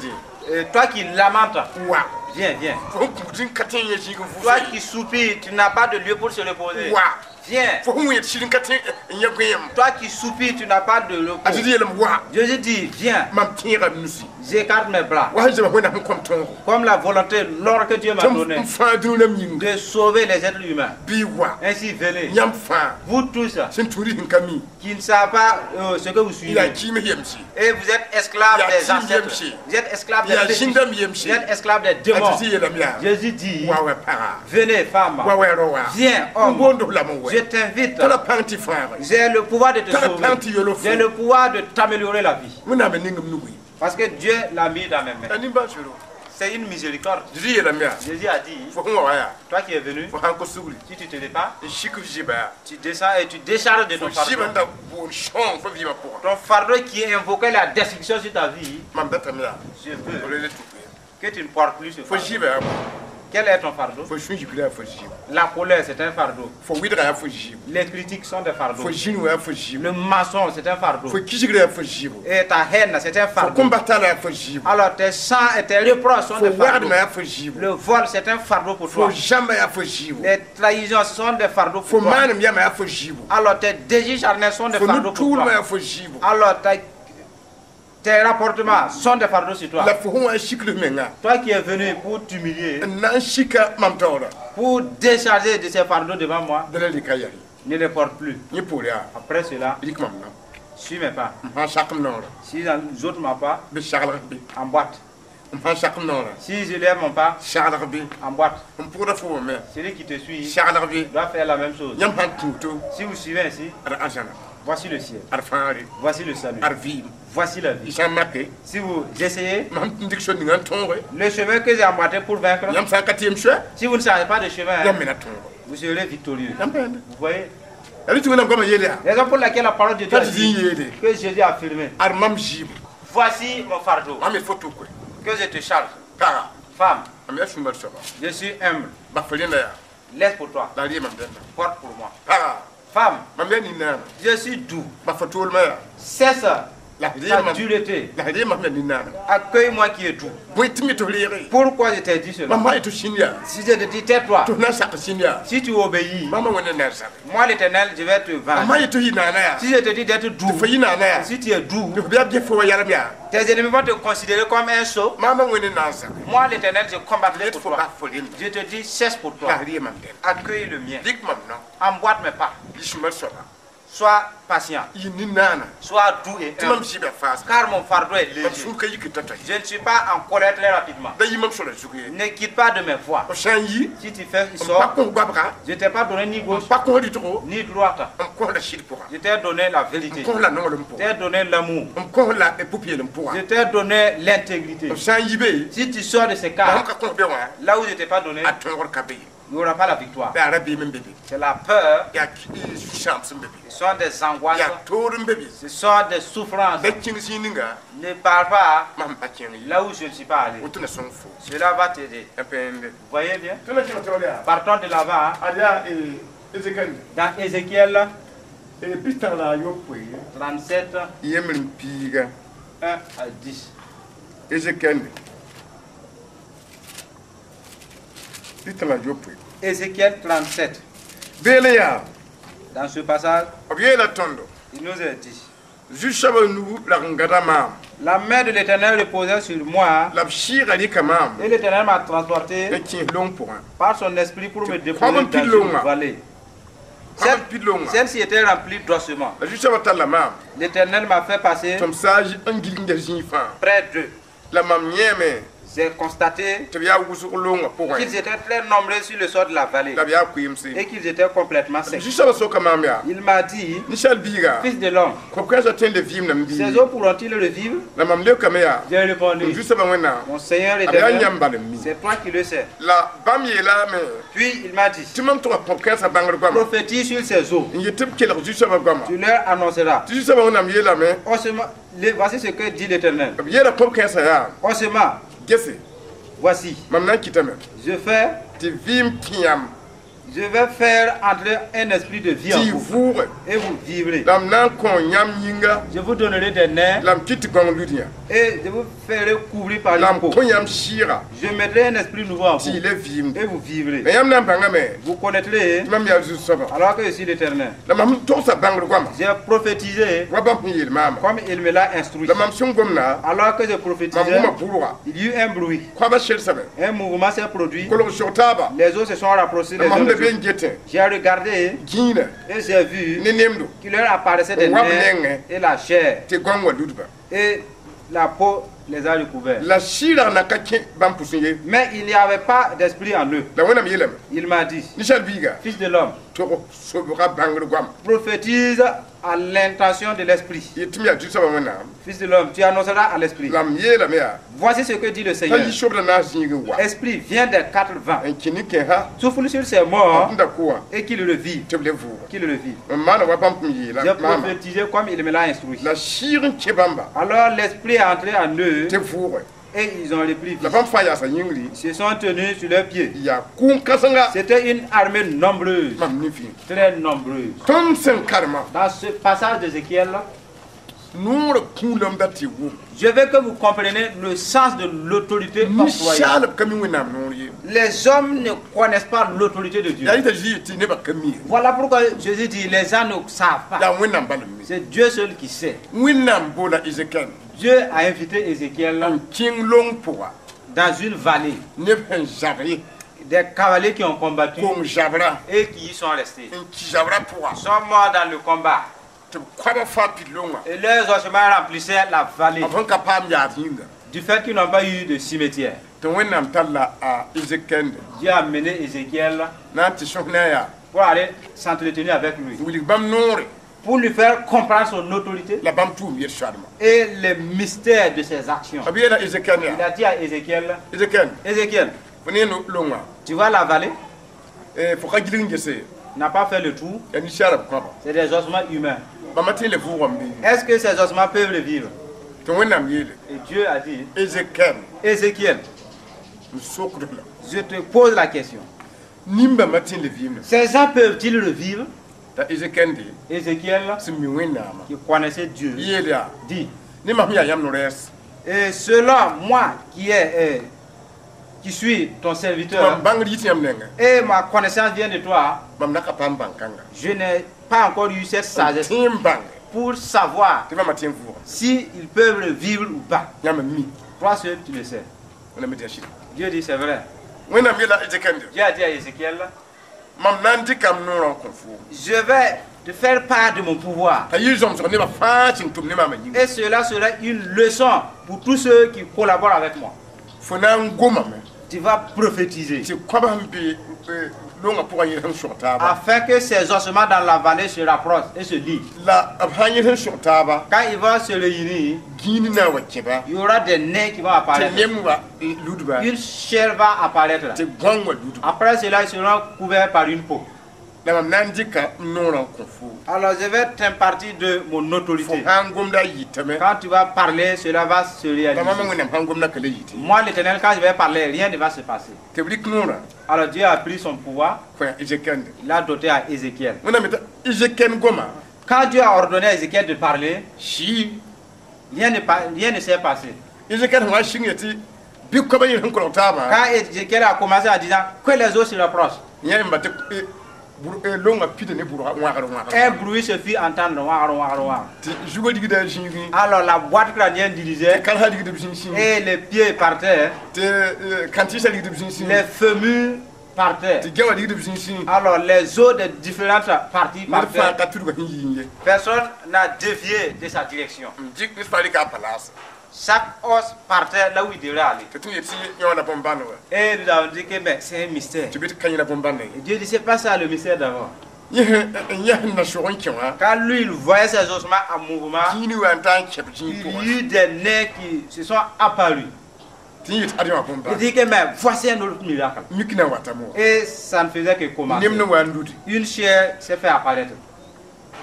Euh, toi qui lamentes, wa. Viens, viens. Fo sẽn kũud n ka tõe n yẽ zĩig n Toi vʋʋse qui soupires, tu n'as pas de lieu pour se reposer. Wa. Viens. Fo sẽn wẽed sɩd n ka tõe n yẽ gõeem. Toi qui soupires, tu n'as pas de A repos. Zĩ yeelame wa. Jésus dit, viens, Mam tẽega m nusi. J'écarte mes bras. Wa sẽn zema Wẽnnaam sẽn kõm tõogo. Comme la volonté, l'ordre que Dieu m'a Tɩ donné m fãa dũni rãmb yĩnga. De sauver les êtres humains. Bɩ wa. Ainsi, venez. Yãmb fãa Vous tous sẽn tũud sẽn ka mi. Qui ne savez pas euh, ce que vous Yaa suivez. kiime yemse. Et vous êtes esclaves Ya des tim ancêtres. yemse. Vous êtes esclaves des Ya fétiches. zĩndame yemse. Vous êtes esclaves des A démons. Zĩ yeelame yaa Jésus dit, wa wa paga. Venez, femme. Wa wa ro wa. Viens, N homme. boond f lame Je wɛ. t'invite. Tara pãng tɩ fãagre. J'ai le pouvoir de te Tara sauver. pãng tɩ yelo fo. J'ai le pouvoir de t'améliorer la vie. Wẽnnaam n ning m nugu. Parce que Dieu l'a mis dans mes mains. A nimbãan-soelo. C'est une miséricorde. Zĩ yeelame yaa Jésus a dit, fo sẽn wa wa yaa toi qui es venu, fo sãn ko sugri si tu te répands, n sik f zɩba yaa tu descends et tu décharges de fo ton fardeau. zɩba n da boond sõong fo vɩɩmã pʋgã. Ton fardeau qui invoquait la destruction sur ta vie, Mam datame yaa je veux f le le tʋk ye. Que tu ne portes plus ce Fo fardeau. zɩɩbã yaa bõe? Quel est ton fardeau? Fo sũ-yikra yaa fo zɩɩbo. La colère, c'est un fardeau. Fo wɩdga yaa fo zɩɩbo. Les critiques sont des fardeaux. Fo zĩnu yaa fo zɩɩbo. Le mensonge, c'est un fardeau. Fo kisgra yaa fo zɩɩbo. Et ta haine, c'est un Fo fardeau. kõm-bas-tala yaa fo zɩɩbo. Alors tes sangs et tes reproches sont Fo des fardeaux. wagdmã yaa fo zɩɩbo. Le vol, c'est un fardeau pour Fo toi. zãmba yaa fo zɩɩbo. Les trahisons, ce sont des fardeaux Fo pour toi. maanem yamã yaa fo zɩɩbo. Alors tes désirs charnels sont des Fo fardeaux pour nu-tʋʋlmã toi. yaa fo zɩɩbo. Alors ta- tes rapportements sont des fardeaux sur toi. La fo sẽn wa n sikl f menga Toi qui es venu pour t'humilier, n na n sika mam taoora. Pour décharger de ces fardeaux devant moi, Da la rɩka yaa. Ne les porte plus. Yẽ poore yaa. Après cela, Rɩk mam nam. Suis mes pas. M sã n sak m noorã. Si j'ôte ma pas, Bɩ saglg bɩ. Emboîte. M sã n sak m noorã. Si je lève mon pas, Saglg bɩ. Emboîte. M pʋgda fo wã me. Celui qui te suit Saglg bɩ. Doit faire la même chose. Yãmb sãn tũ to. Si vous suivez ainsi, Ad arzãna. Voici le ciel. Ad fãagre. Voici le salut. Ad vɩɩm. Voici la Y vie. sã n make. Si vous essayez, Mam n dɩk so ninga n tõoge. Le chemin que j'ai emboîté pour vaincre, Yãmb sã n ka tɩ yem soɛ. Si vous ne changez pas de chemin, hein, Yãmb me na tõoge. Vous serez victorieux. Yãmb pẽende. Vous voyez? La rɩ tɩ Wẽnnaam goamã yeel yaa. Raison pour laquelle la parole de Dieu T'a a tɩ dit zĩ n yeele. Que Jésus a affirmé. Ad mam zɩɩbo. Voici mon fardeau Mam yet fo tʋk. Que je te charge. Paga. Femme, Mam yaa sũ-mar soaba. Je suis humble. Bas fo rẽnda yaa. Laisse pour toi. La r yee mam dẽnda. Porte pour moi. Paga. Femme, Mam yaa nin-naana. je suis doux. Bas fo toolmã yaa. Cesse La r yee ta mam. dureté. La r yee mam yaa nin-naana. Accueille-moi qui est doux. Bõe tɩ m yet tɩ f reege. Pourquoi je t'ai dit cela? Mam sã n yet tɩ f sĩnd yaa. Si je te dis tais-toi, Tɩ f na n sak sĩnd yaa. Si tu obéis, Maamã Wẽnde na n zabe. Moi l'Éternel, je vais te Mam vaincre. sã n yet tɩ f yɩ naana yaa. Si je te dis d'être doux, Tɩ fo yɩ naana yaa. Si tu es doux, Tɩ f bɩa b ges fo wa yalem yaa. Tes ennemis vont te considérer comme un sot. Maamã Wẽnde na n zabe. Moi l'Éternel, je combattrai Yet pour fo toi. bas fo rẽnda. Je te dis cesse pour toi. La r yee mam dẽnda. Accueille le mien. Dɩk mam no. Emboîte mes pas. Yɩ sũ-mar soaba. Sois patient. Yɩ nin-naana. Sois doux et Tɩ mam humble. zɩɩbã faas. Car mon fardeau est Mam léger. sũur ka yik tao-tao ye. Je ne suis pas en colère très rapidement. Da yɩ mam sora zug ye. Ne quitte pas de mes voies. F sã n yi. Si tu fais, il M pa sort. kõ goabga. Je ne t'ai pas donné ni M gauche, pa kõ rɩtgo. Ni droite. M kõ la sɩd pʋga. Je t'ai donné la M vérité. kõ la nonglem Je pʋga. t'ai donné l'amour. M kõ la pʋ-peelem pʋga. Je t'ai donné l'intégrité. F sã n yi be. Si tu sors de ce La cas, sẽn ka kõ be wã. Là où je ne t'ai pas donné, A tõogr ka be ye. il n'y aura pas la victoire. Yaa rabiim n be be. C'est la peur, Yaa sũ-sãams n be be. Ce sont des angoisses, Yaa toor n be be. Ce sont des souffrances. Da kẽng zĩig ninga. Ne parle pas Mam pa kẽng ye. là où je ne suis pas allé. Woto na sõng fo. Cela va t'aider. A pẽende. Vous voyez bien? Tõnd na kẽng taoor yaa. Partons de l'avant, hein. Ad yaa Ezekiel. Dans Ézéchiel Pistã la a yopoe. trente-sept, Yembr n piiga. un à dix. Ezekiel. Pistã la a yopoe. Ézéchiel trente-sept. Beele yaa. Dans ce passage, B yeela tõndo. Il nous est dit: Zu-soabã nug lag n gada maam. La main de l'Éternel reposait sur moi La b sɩɩga rɩka maam. Et l'Éternel m'a transporté N kẽes long pʋgã. Par son esprit pour me déposer Comme un dans pilon, une là. vallée. Comme un Celle- pilon, là. Celle-ci était remplie d'ossements. La zu-soabã talla maam. L'Éternel m'a fait passer Tɩ m saag n gilgda zĩig fãa. Près d'eux. La mam yẽeme. J'ai constaté Tɩ b yaa wʋsg loongã pʋgẽ. Qu'ils étaient très nombreux sur le sol de la vallée La b yaa koeemse. Et qu'ils étaient complètement secs. Zu-soabã soka maam yaa. Il m'a dit, Ninsaal biiga. Fils de l'homme, Kob-kãensã tõe n le vɩɩmdame bɩ. ces eaux pourront-ils revivre? La mam leokame yaa. J'ai répondu, Zu-soabã Wẽnnaam. mon Seigneur B yaa éternel, yãmb bal n mi. C'est toi qui le sais. La bãmb yeelame. Puis il m'a dit, Tɩ mam tʋga kob-kãensã bãngr goama. Prophétise sur ces eaux, N yet tɩ b kelg zu-soabã goama. Tu leur annonceras. Tɩ zu-soabã Wẽnnaam yeelame. Ossements, le- voici ce que dit l'Éternel. B yeela kob-kãensã yaa. Ossements, Gese. Voici, Mam na n kɩtame. Je fais, Tɩ vɩɩm kẽ yãmb. Je vais faire entrer un esprit de vie Tɩ en y vous vʋʋge. Et vous vivrez. La m na n kõ yãmb yĩnga. Je vous donnerai des nerfs La m kɩt tɩ gãong lud yã. Et je vous ferai couvrir par La une m peau. kõ yãmb sɩɩga. Je mettrai un esprit nouveau en Tɩ y vous le vɩɩmde. Et vous vivrez. La yãmb na n bãngame. Vous connaîtrez Tɩ mam yaa zu-soabã. Alors que je suis l'Éternel. La mam togsa bãngr goama. J'ai prophétisé Wa bãmb sẽn yeel maama. Comme il me l'a instruit. La mam sẽn gomda. Alors que je Mam prophétisais, wʋma bʋrga. Il y eut un bruit. Koabã selsame. Un mouvement s'est produit. Kolg sog taaba. Les eaux se sont rapprochées La les uns mam des da be autres. n getẽ. J'ai regardé Gĩinã. Et j'ai vu Ne nemdo. qu'il leur apparaissait des Wab nerfs nengẽ. et la chair. Tɩ gãong wã ludba. Et la peau les a recouverts. La sɩɩrg na ka kẽ bãmb pʋsẽ ye. Mais il n'y avait pas d'esprit en eux. La Wẽnnaam yeelame. Il m'a dit, Ninsaal biiga. Fils de l'homme, Tog sobga bãngr goama. Prophétise à l'intention de l'esprit. Yet tɩ m yaa zu-soabã Wẽnnaam. Fils de l'homme, tu annonceras à l'esprit. La m yeelame yaa. Voici ce que dit le T'a Seigneur. yi sobda naas zĩig n wa. Esprit, viens des quatre vents. N kẽ ne-kẽesa. Souffle sur ces morts N da kʋ wã. Et qu'ils revivent. Tɩ b le vʋʋga. Qu'ils revivent. M maana wa bãmb n yeela J'ai maama. prophétisé comme il me l'a instruit. La sɩɩg n kẽ bãmba. Alors l'esprit est entré en eux Tɩ vʋʋge. Et ils ont repris vie. La bãmb fãa yaasa yĩngri. Ils se sont tenus sur leurs pieds. Yaa kʋʋn-kãsenga. C'était une armée nombreuse, Mam ne-fĩ. Très nombreuse. Tõnd sẽn karema. Dans ce passage d'Ézéchiel, Noorã kũulame dat tɩ wʋm. Je veux que vous compreniez le sens de l'autorité octroyée. Ninsaalb ka mi Wẽnnaam noor ye. Les hommes ne connaissent pas l'autorité de Dieu. Yaa yɩta Zezi tɩ nebã ka mi ye. Voilà pourquoi Jésus dit: les gens ne savent pas. Yaa Wẽnnaam bal n mi. C'est Dieu seul qui sait. Wẽnnaam boola Ezekiel. Dieu a invité Ézéchiel N kẽng long pʋga. Dans une vallée. Neb sẽn zab ye. Des cavaliers qui ont combattu Kong zabra. Et qui y sont restés. N ki zabrã pʋga. Ils sont morts dans le combat. Tɩ b koabã fãa pid longã. Et leurs ossements remplissaient la vallée. B sẽn ka paam yaad yĩnga. Du fait qu'ils n'ont pas eu de cimetière. Tɩ Wẽnnaam tall a Ezekiel. Dieu a mené Ézéchiel Na n tɩ sõs ne a yaa. Pour aller s'entretenir avec lui. Wilg bãmb noore. Pour lui faire comprendre son autorité La bãmb tʋʋm yel-soadmã. Et les mystères de ses actions. B yeela Ezekiel Il yaa. A dit à Ézéchiel, Ezekiel. Ézéchiel, Fo ne longã. Tu vois la vallée? Fo ka gilg n gese. N'a pas fait le tour. Yaa ninsaalb kõaba. C'est des ossements humains. Bãmba tõe n le vʋʋgame bɩ? Est-ce que ces ossements peuvent revivre? Tɩ Wẽnnaam yeele. Et Dieu a dit, Ezekiel. Ézéchiel, M sokd la. Je te pose la question. Nin-bãmba tõe n le vɩɩmda? Ces gens peuvent-ils revivre? T'a Ezekiel de. Ézéchiel, Sẽn mi Wẽnnaamã. Qui connaissait Dieu, Yeel yaa. Dit, Ne mam yaa yãmb no-rɛɛs. Et selon moi qui est, euh, qui suis ton serviteur, Mam bãngr yit yãmb nengẽ. Et ma connaissance vient de toi, Mam na ka paam bãn-kãnga. Je n'ai pas encore eu cette sagesse Tẽ n bãnge. Pour savoir Tɩ bãmba tõe n vʋʋgame. Si ils peuvent revivre ou pas. Yãmb n mi. Toi seul, tu le sais. Wẽnnaam tɩ yaa sɩda. Dieu dit: c'est vrai. Wẽnnaam yeela Ezekiel de. Dieu a dit à Ézéchiel, Mam na n dɩka m noorã n kõ foo. Je vais te faire part de mon pouvoir. T'a yɩ zõmsg nebã fãa sẽn tʋm ne maamã yĩnga. Et cela sera une leçon pour tous ceux qui collaborent avec moi. Fo na n gomame. Tu vas prophétiser Tɩ koabã sẽn be eh, longã pʋgã yẽ sẽn sog taaba. Afin que ces ossements dans la vallée se rapprochent et se lient. La b sã n yẽ sẽn sog taaba. Quand ils vont se réunir, Gĩin na n wa kẽba. Il y aura des nez qui vont Tɩ apparaître. nem wa eh, ludba. Une chair va apparaître. Tɩ gõng wa ludba. Après cela, ils seront couverts par une peau. La mam na n dɩka m noorã n kõ foo. Alors je vais t'impartir de mon Fo autorité. sã n gomda a yitame. Quand tu vas parler, cela va se La réaliser. mam Wẽnnaam sã n gomda ka le yite. Moi, l'Éternel, quand je vais parler, rien ne va se passer. Tɩ b rɩk noorã. Alors Dieu a pris son pouvoir, Kõ Ezekiel. Il l'a doté à Ézéchiel. Wẽnnaam t'a Ezekiel goma. Quand Dieu a ordonné à Ézéchiel de parler, Sɩ. rien ne, pa- rien ne s'est passé. Ezekiel sẽn wa sɩng yetɩ bɩ koabã yẽ sẽn kolg taabã. Quand Ézéchiel a commencé en disant que les eaux se rapprochent, Yẽ n ba tɩ eh, bur- eh, longã pida ne bʋrga wãgr wãgr. Un bruit se fit entendre. Ouar, ouar, ouar. Tɩ zugã rigda zĩigẽ. Alors la boîte crânienne dirigeait Tɩ kalsã rigd b zĩig et les pieds partaient, tɩ eh, kãntɩɩsã rigd b zĩig les fémurs partaient. tɩ gɛwã rigd b zĩig. Alors les os des différentes parties Ned fãa partaient. ka tudga sẽn yiẽ ye. Personne n'a dévié de sa direction. N dɩk ned fãa rɩka a palaas. Chaque os partait là où il devait aller. Tɩ tõnd yet tɩ yõ la bõn-bãn wa. Et nous avons dit que mais c'est un mystère. Tɩ bɩ tɩ ka yẽ la bõn-bãn ye. Et Dieu dit: c'est pas ça le mystère d'abord. Yẽ sẽn yã sẽn na sog n kẽ wã. Quand lui il voyait ces ossements en mouvement, Gĩini wa n ta n kẽb zĩig il pʋgã. Y eut des nez qui se sont apparus. Tɩ yẽ yet ad yõ Il bõn-bãn. dit que mais voici un autre miracle. Mik na watame wã. Et ça ne faisait que commencer. Nem ne wa n ludi. Une chair s'est fait apparaître.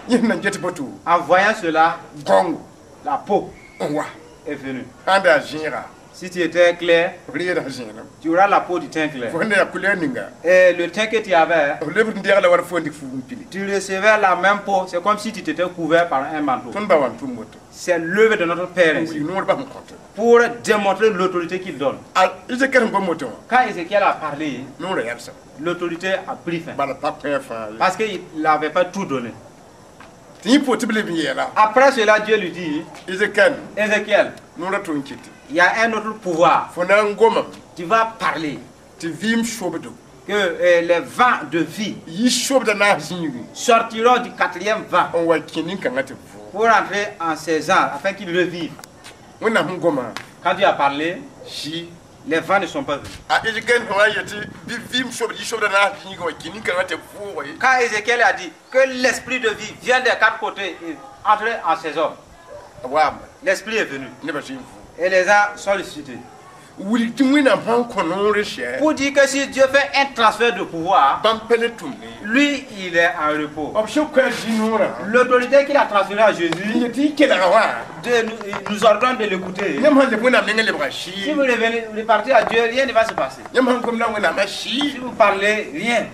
Yẽ sẽn na n get boto. En voyant cela, Gõngo la peau n wa. Est venue. Sã n daa zẽega. Si tu étais clair, B reeda zẽenem. Tu auras la peau du teint clair. Fo sẽn da yaa couleur ninga. Et le teint que tu avais, B lebd n deeg la wala fo n dɩk fuug n pili. Tu recevais la même peau. C'est comme si tu t'étais couvert par un manteau. Tõnd ba wa n tʋm woto. C'est l'œuvre de notre Père N ainsi, wilg noor bas n kõte. pour démontrer l'autorité qu'il donne. A Ezekiel sẽn gom woto wã. Quand Ézéchiel a parlé, Noorã yalsame. L'autorité a pris fin. Bala pa kõ fãa ye. Parce qu'il n'avait pas tout donné. Tɩ yẽ poor tɩ b leb n yeela. Après cela, Dieu lui dit, Ezekiel. Ézéchiel, Noorã tʋ n kɩtɩ. Il y a un autre pouvoir. Fo na n gomame. Tu vas parler Tɩ vɩɩm sobdo. Que euh, les vents de vie Yi sobda naas zĩigẽ. Sortiront du quatrième vent N wa kẽ nin-kãngã tɩ b vʋʋg. Pour entrer en ces ans afin qu'ils revivent. Wẽnnaam sẽn goma. Quand Dieu a parlé, Sɩ. Les vents ne sont pas venus. A Ezekiel sẽn wa yetɩ bɩ vɩɩm sobd yi sobda naas zĩigẽ wa kẽ nin-kãngã tɩ b vʋʋg ye. Quand Ézéchiel a dit que l'esprit de vie vient des quatre côtés et entre en ces hommes, A waame. L'esprit est venu. Nebã zĩ n vʋʋg. Et les gens sont ressuscités. Wilg tɩ Wẽnnaam sãn kõ noor sɛ Pour dire que si Dieu fait un transfert de pouvoir, bãmb pa le tʋmd ye. Lui, il est en repos. B sẽn kõ a Zezi noorã L'autorité qu'il a transférée à n Jésus, yet tɩ y kelga wã de nous, il nous ordonne de l'écouter. Yãmb sãn leb Wẽnnaam nengẽ lebga Si sɩɩ vous revenez, repartez à Dieu, rien ne va se passer. Yãmb sãn gomda Wẽnnaamã Si sɩɩ vous parlez, rien.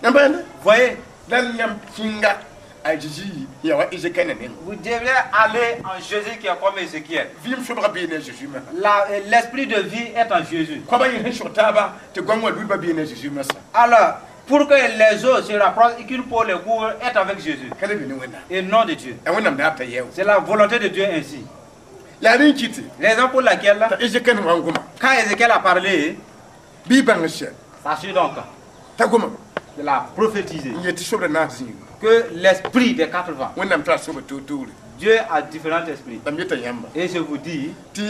Yãmb pa yẽnde Voyez, la yãmb kĩnga a Zezi ya wa Ezekiel nengẽ. Vous devrez aller en Jésus qui est comme Ézéchiel. Vɩɩm sobga bee ne Zeezi masã. La- L'esprit de vie est en Jésus. Koabã yẽ sẽn sog taaba tɩ goam wã ludbã bee ne Zeezi masã. Alors, pour que les autres se rapprochent et qu'une peau les couvre, est avec Jésus. Ka le be ne Wẽnnaam. Et non de Dieu. Ya Wẽnnaam daab t'a yɛo. C'est la volonté de Dieu ainsi. La rẽ n kɩtɩ Raison pour laquelle, t'a Ezekiel wã n goma quand Ézéchiel a parlé, bɩ y bãng sɛ sachez donc t'a goma qu'il a prophétisé n yet tɩ sobda naas zĩiga. Que l'esprit des quatre vents, Wẽnnaam tara sobd toor-toore. Dieu a différents esprits. La m yeta yãmba Et je vous dis, tɩ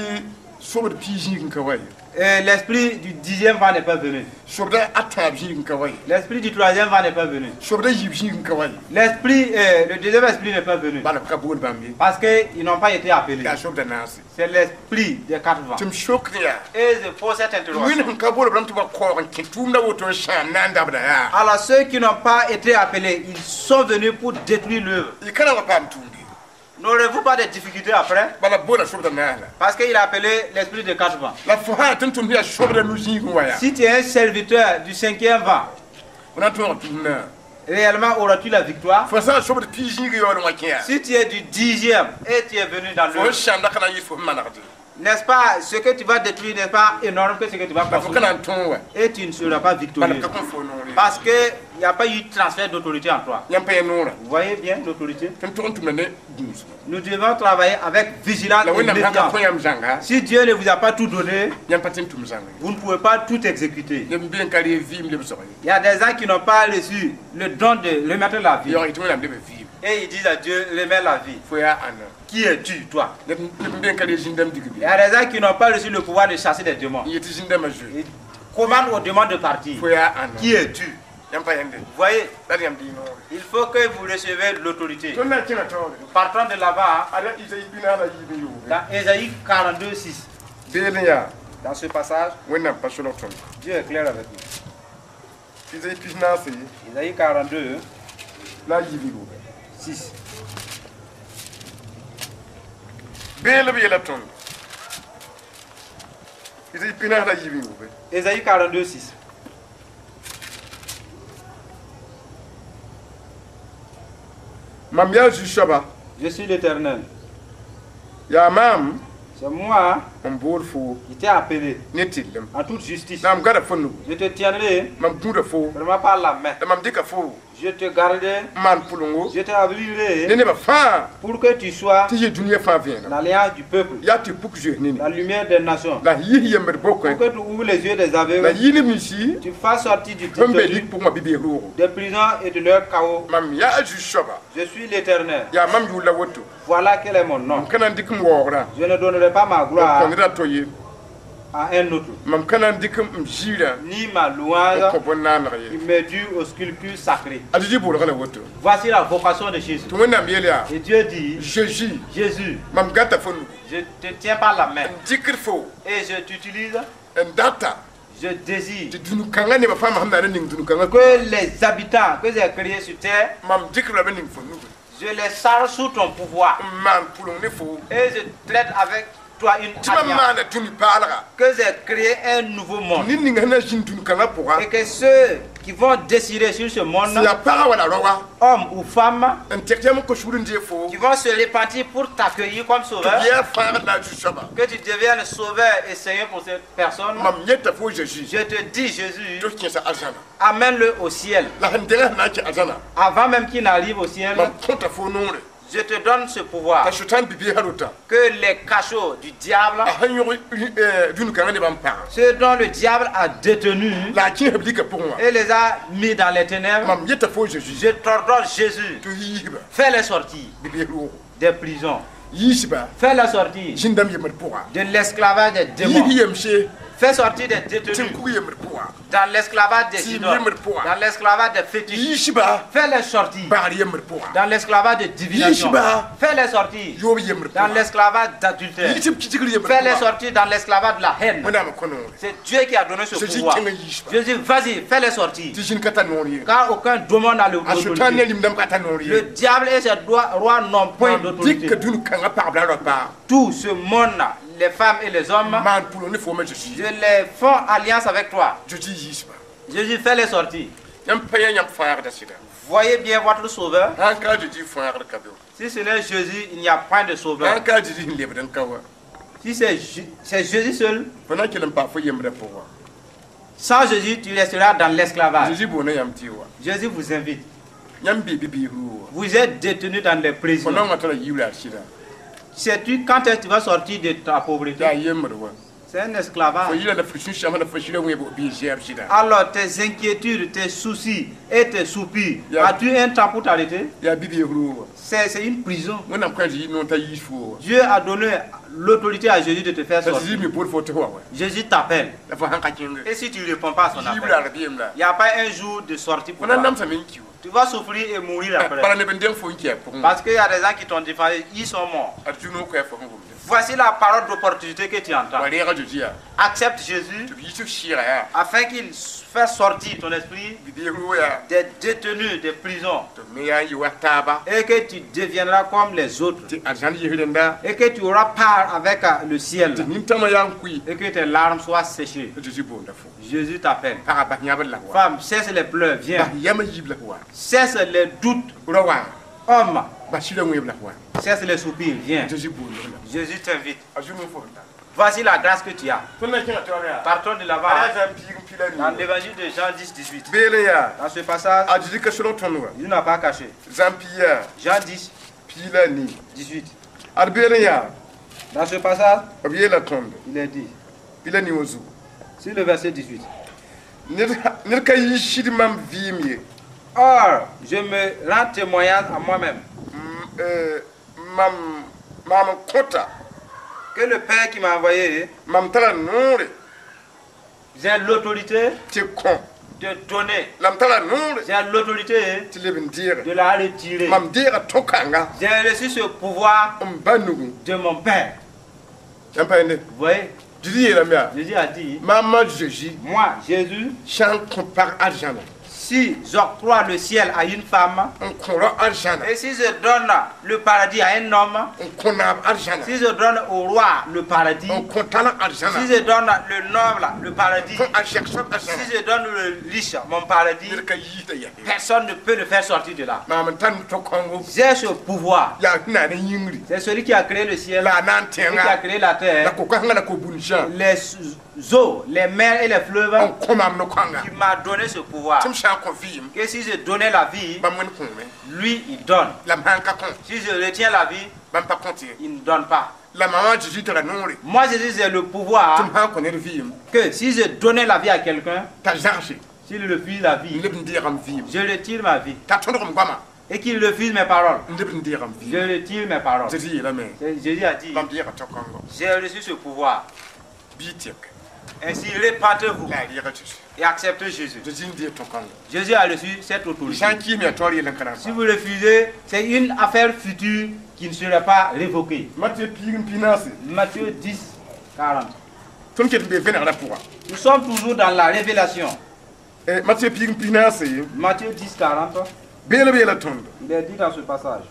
sobd pii zĩig n ka wa ye. euh, l'esprit du dixième vent n'est pas venu. Sobda a tãab zĩig n ka wa ye. L'esprit du troisième vent n'est pas venu. Sobda yiib zĩig n ka wa ye. L'esprit, euh, le deuxième esprit n'est pas venu. Bala b ka bool bãmb ye. Parce qu'ils n'ont pas été appelés. Yaa sobda naase. C'est l'esprit des quatre vents. Tɩ m sok yaa Et je pose cette interrogation. Wẽnd sẽn ka bool b rãmb tɩ wa kaoog n kẽ tʋʋmda woto n sãam na n dabda yaa. Alors ceux qui n'ont pas été appelés, ils sont venus pour détruire l'œuvre. Y ka na wa paam tʋʋmde. N'aurez-vous pas de difficultés après? Bala b boola sobda naas la. Parce qu'il a appelé l'esprit de quatre vents. La fo sã tɩ n tʋmd yaa sobda nu zĩigẽ wa yaa. Si tu es un serviteur du cinquième vent, Fo na n tõog tʋʋmdã. Réellement auras-tu la victoire? Fo sã n sobd pii zĩigẽ yaool n wa kẽ yaa. Si tu es du dixième et tu es venu dans Fo l'œuvre, sãamda ka na n yɩ fo manegde. N'est-ce pas, ce que tu vas détruire n'est pas énorme que ce que tu vas La fo ka construire. na n tõog wa. Et tu ne seras pas Bala victorieux. b ka kõn fo noor ye. Parce qu'il n'y a pas eu de transfert d'autorité en toi. Yãmb pa yã noorã. Vous voyez bien l'autorité? Tɩ n tʋg n tʋmda ne gũusgã. Nous devons travailler avec vigilance La et Wẽnnaam sã n ka méfiance. kõ yãmb zãnga Si Dieu ne vous a pas tout donné, yãmb pa tɩ n tʋm zãnga ye. Vous ne pouvez pas tout exécuter. Neb n be n ka reeg vɩɩm lebsg ye. Il y a des gens qui n'ont pas reçu le don de remettre la vie. Yaoog yetɩ Wẽnnaam leb vɩɩm. Et ils disent à Dieu, remets la vie. Fo yaa ãnna. Qui es-tu, toi? Neb n be n ka reeg zĩn-dãmb digb Il ye. y a des gens qui n'ont pas reçu le pouvoir de chasser des démons. N yetɩ zĩn-dãmbã zoe. Ils commandent aux démons de partir. Fo yaa ãnna. Qui es-tu? Yãmb pa yẽnde. Vous voyez, La d yãmb dɩ noore. Il faut que vous receviez l'autorité. Tõnd na n kẽnga taoore. Partons de là-bas, Ada Isaïe pinaas la yiib n yoore. Dans Ésaïe quarante-deux, six. Beelẽ yaa Dans ce passage, Wẽnnaam pa solg tõnd. Dieu est clair avec nous. Isaïe pis-naase Ésaïe quarante-deux, la a yiib n yoore. six. Beel b yeela tõnd. Isaïe pinaas la yiib n yoore. Ésaïe quarante-deux, six. Mam yaa Zu-soaba. Je suis l'Éternel. Yaa maam C'est moi n bool foo qui t'ai appelé ne tɩllem. En toute justice. La m gada fo nugu. Je te tiendrai Mam gũuda foo. vraiment par la main. La mam dɩka foo Je te garderai, n maan pʋlengo je t'abrirai ne nebã fãa pour que tu sois tɩ yɩ dũniyã fãa vẽeneg. L'alliance du peuple, Yaa tɩ puk zoees nini. La lumière des nations. La yis yembd bokẽ. Pour que tu ouvres les yeux des La aveugles, yɩ neb ninsi tu fasses sortir du sẽn be détenu, lik pʋgẽ wã bɩ bees roogo. Des prisons et de leur chaos. Mam yaa Zu-soaba. Je suis l'Éternel. Yaa mam yʋʋr la woto. Voilà quel est mon nom. M ka na n dɩk m waoogrã Je ne donnerai pas ma n gloire kõ ned a to ye. À un autre, Mam ka na n dɩk m ziirã ni ma n louange kõ bõn-naaneg qui ye. m'est due aux sculptures sacrées. A Zezi boolga la woto. Voici la vocation de Jésus. Tɩ Wẽnnaam yeel yaa Et Dieu dit, Zeezi Jésus, mam gata fo nugu. Je te tiens par la main N dɩkd fo et je t'utilise, n data je désire tɩ dũni-kãngã nebã fãa sẽn na n ning dũni-kãngã que les habitants que j'ai créés sur terre, mam dɩk lame ning fo nugu. Je les charge sous ton pouvoir N maan pʋleng ne fo. Et je traite avec toi une Tɩ mam alliance maana dũni paalga. Que j'ai créé un nouveau monde Ned ninga sẽn na n zĩnd dũni-kãngã pʋga et que ceux qui vont décider sur ce monde, sẽn yaa paga wala raoa hommes ou femmes, n tek yam n kos sugr n dee fo qui vont se repentir pour t'accueillir comme tɩ sauveur, b yaa fãagd la a Zu-soaba. Que tu deviennes sauveur et Seigneur pour cette personne. Mam yeta fo Zeezi Je te dis, Jésus, tɩ f kẽesa arzãna. Amène-le au ciel. La sẽn dengã sẽn na n kẽ arzãna Avant même qu'il n'arrive au ciel, mam kõta fo noore je te donne ce pouvoir t'a sʋtãan bi-beesã rota que les cachots du diable, a sẽn yõg dũni-kãngã nebã n pãga ceux dont le diable a détenu la a kẽesb lika pʋgẽ wã et les a mis dans les ténèbres, mam yeta fo Zeezi je t'ordonne, Jésus, tɩ f yiisba fais-les sortir bi-bees roogo des prisons, yiisba fais-les sortir zĩn-dãmb yembd pʋga de l'esclavage des démons, yiis yemse fais Fais sortir des détenus Tẽn-kug yembd pʋga. dans l'esclavage des Si, idoles, yembd pʋga. dans l'esclavage des fétiches. Yiis-ba Fais-les sortir bagr yembd pʋga. dans l'esclavage de divination. Yiis-ba Fais-les sortir yoob yembd dans pʋga. l'esclavage d'adultère. Yiis b kitigr yembd Fais-les pʋga. sortir dans l'esclavage de la haine. Wẽnnaam n kõ noore. C'est Dieu qui a donné ce Jésus pouvoir. kẽng n yiis-ba. Jésus, vas-y, fais-les sortir. Tɩ zĩn ka tar noor ye. Car aucun démon n'a le- A Sʋtãan ne l'autorité. lim-dãmb ka tar noor Le ye. diable et ses droits- rois n'ont point Mam d'autorité. dɩka dũni-kãngã pagb la raopa. Tout ce monde, les femmes et les hommes, Maan pʋlg ne fooma Zeezi. je les font alliance avec toi. Zeezi yiis-ba. Jésus, fais-les sortir. Yãmb pa yã yãmb fãagda sɩda. Voyez bien votre sauveur. Sãn ka Zeezi fãagd ka be. Si ce n'est Jésus, il n'y a point de sauveur. Sãn ka Zeezi sẽn lebd n ka wa. Si c'est Ju- c'est Jésus seul, Fo na n kell n paam fo yembrã pʋgã. sans Jésus, tu resteras dans l'esclavage. Zeezi boonda yãmb tɩ wa. Jésus vous invite. Yãmb bee bi-biis ruu wa. Vous êtes détenus dans les Fo prisons. naongã tara yiibra sɩda. Sais-tu quand est-ce que tu vas sortir de ta pauvreté? Yaa yembr wa. C'est un Fo esclavage. yira la fo sũ-sãmbã la fo sɩda wẽeb bɩ zɛɛb sɩda. Alors tes inquiétudes, tes soucis et tes soupirs, Yeah. as-tu un temps pour t'arrêter? Yaa bi-biis ruu wa. C'est c'est une prison. Wẽnnaam kõ a Zeezi noor t'a yiis foo wa. Dieu a donné l'autorité à Jésus de te faire La sortir. Zeezi me bool fo tɩ wa wa. Jésus t'appelle. La fo sãn ka kẽnge. Et si tu ne réponds pas à son appel, Yiibra rabeem la. il n'y a pas un jour de sortie Fo pour na toi. namsame n ki wa. Tu vas souffrir et mourir après. Bala neb n deng fo n kɩ a pʋgẽ. Parce qu'il y a des gens qui t'ont défendu, ils sont morts. Ad zu-noog koɛɛ fo sẽn gomda. Voici la parole d'opportunité que tu entends. Wa reega Zeezi yaa. Accepte Jésus Tɩ b yiis f sɩɩga yaa. afin qu'il fasse sortir ton esprit Bi-biis ruu yaa. des détenus des prisons Tɩ b me yaa n yɩ wa taaba. et que tu deviendras comme les autres Tɩ arzãn yis rẽnda. et que tu auras part avec euh, le ciel Tɩ nintãmã yaa n kʋɩ. et que tes larmes soient séchées. Tɩ Zeezi boonda fo. Jésus t'appelle. Pagã bas yãbr la wa. Femme, cesse les pleurs, viens. Bas yãmb yiib la wa. Cesse les doutes, Ra wa. homme. Bas sɩda wẽeb la wa. Cesse les soupirs, viens. Zeezi boonda la. Jésus t'invite. A zu-noog fo sẽn tar. Voici la grâce que tu as. Tõnd na n kẽngã taoor yaa. Partons de là-bas. Ala Zã piig n pila Dans nii. l'évangile de Jean dix, dix-huit. Beelẽ yaa. Dans ce passage, A Zeezi ka solg tõnd wa. il n'a pas caché. Zã pii yaa. Jean dix, Pii la nii. dix-huit. Ad beelẽ yaa. Dans ce passage, B yeela tõndo. il est dit, Pii la nii wã zugu. sur le verset dix-huit. Ned ned ka yɩ sɩd mam vɩɩm ye. Or, je me rends témoignage à moi-même M- euh, Mam maam n kõta. que le Père qui m'a envoyé, Mam tara noore j'ai l'autorité tɩ kõ. de donner, La m tara noore j'ai l'autorité tɩ leb n deege. de la retirer. Mam deega tõ-kãnga J'ai reçu ce pouvoir n ba nugu. de mon Père. Yãmb pa yẽnde. Vous voyez, Zeezi yeelame yaa. Jésus a dit, Maamã Zeezi moi, Jésus, sã n kõ pag arzãna si j'octroie le ciel à une femme, n kõ rao arzãna et si je donne le paradis à un homme, n kõ naab arzãna si je donne au roi le paradis, n kõ talã arzãna si je donne le noble le paradis, kõ arzɛk soab arzãna si je donne le riche mon paradis, ned ka yiisda yaa personne ne peut le faire sortir de là. maam n tar tõ-kãngo J'ai ce pouvoir. yaa sẽn na ne yĩngri C'est celui qui a créé le ciel, la a na n celui qui a tẽnga créé la la terre, ko-kãsengã la ko-bũnsã les eaux, les mers et les fleuves, n kõ maam no-kãnga qui m'a donné ce pouvoir. tɩ m sã n kõ vɩɩm Que si je donnais la vie, bãmb wẽnd kõome lui, il donne. la m sãn ka kõ Si je retiens la vie, bãmb pa kõt ye il ne donne pas. la maamã Zeezi tara noore Moi, Jésus, j'ai le tɩ pouvoir m sãn kõ ned vɩɩm que si je donnais la vie à quelqu'un, t'a zagse s'il refuse la n vie, leb n deegam vɩɩm je retire ma vie. t'a tõdgem goama Et qu'il refuse mes paroles, n leb n deegam je vɩɩm retire mes paroles. Zeezi yeelame C'est- Jésus a dit, bãmb deega tõ-kãngo j'ai reçu ce pouvoir. bɩ y tɩk Ainsi, répentez-vous la a reega Zeezi et acceptez Jésus. Zeezi n deeg tõ-kãngo Jésus a reçu cette autorité. sã n kiisme yaa taoor yell n ka na n Si vous refusez, c'est une affaire future qui ne sera pas révoquée. Matthieu piig n pinaase Matthieu dix, quarante. Tõnd ket n bee vẽnegrã pʋga. Nous sommes toujours dans la révélation. Matthieu piig n pinaase Matthieu dix, quarante, beelb yeela tõndo. il est dit dans ce passage.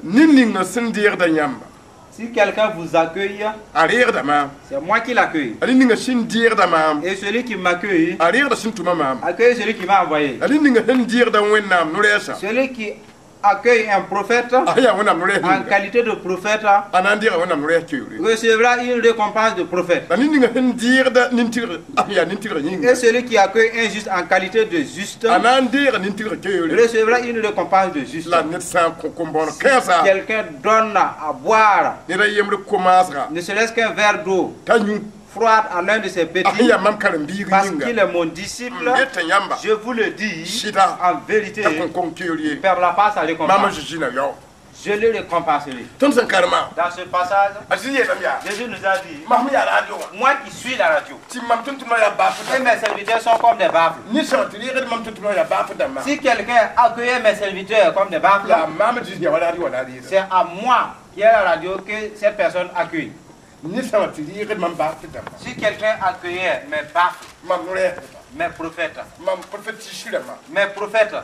Ned ninga sẽn deegda yãmba Si quelqu'un vous accueille, a reegda maam. c'est moi qui l'accueille. A ned ninga sẽn deegda maam Et celui qui m'accueille, a reegda sẽn tʋma maam. accueille celui qui m'a envoyé. A ned ninga sẽn deegda Wẽnnaam no-rɛɛsa Celui qui accueille un prophète a sẽn yaa Wẽnnaam no-rɛɛs en ninga qualité de prophète a na n deega Wẽnnaam no-rɛɛs keoore. recevra une récompense de prophète. La ned ninga sẽn deegda nin-tɩgr a sẽn yaa nin-tɩgr yĩnga Et celui qui accueille un juste en qualité de juste a na n deega nin-tɩgr keoore. recevra une récompense de juste. La ned sã n kõ kom-bõoneg kãensa Quelqu'un donne à boire, ned a yembre ko-maasga ne serait-ce qu'un verre d'eau t'a yũ froide à l'un de ses a sẽn petits, yaa mam karen-biig parce yĩnga qu'il est mon disciple, n yeta yãmba je vous le dis, sɩda en vérité, t'a il kõn kong keoor ye ne perdra pas sa maamã récompense. Zeezi na yao. Je le récompenserai. Tõnd sẽn karema Dans ce passage, a Zezi yeelame yaa Jésus nous a dit, mam sẽn yaa radio wã moi qui suis la radio, tɩ mam tʋm-tʋmdã yaa baaf et mes serviteurs sont comme des baffles. ned sã n tɩ reegd mam tʋm-tʋmdã yaa baaf dãmbã Si quelqu'un accueillait mes serviteurs comme des baffles, yaa maam Zezi yaa wa radio wã la a reeda c'est à moi qui est la radio que cette personne accueille. Ned sã n tɩ reegd mam baaf dãmbã Si quelqu'un accueillait mes baffles, mam no-rɛɛsdbã mes prophètes, mam profet tɩ mes prophètes,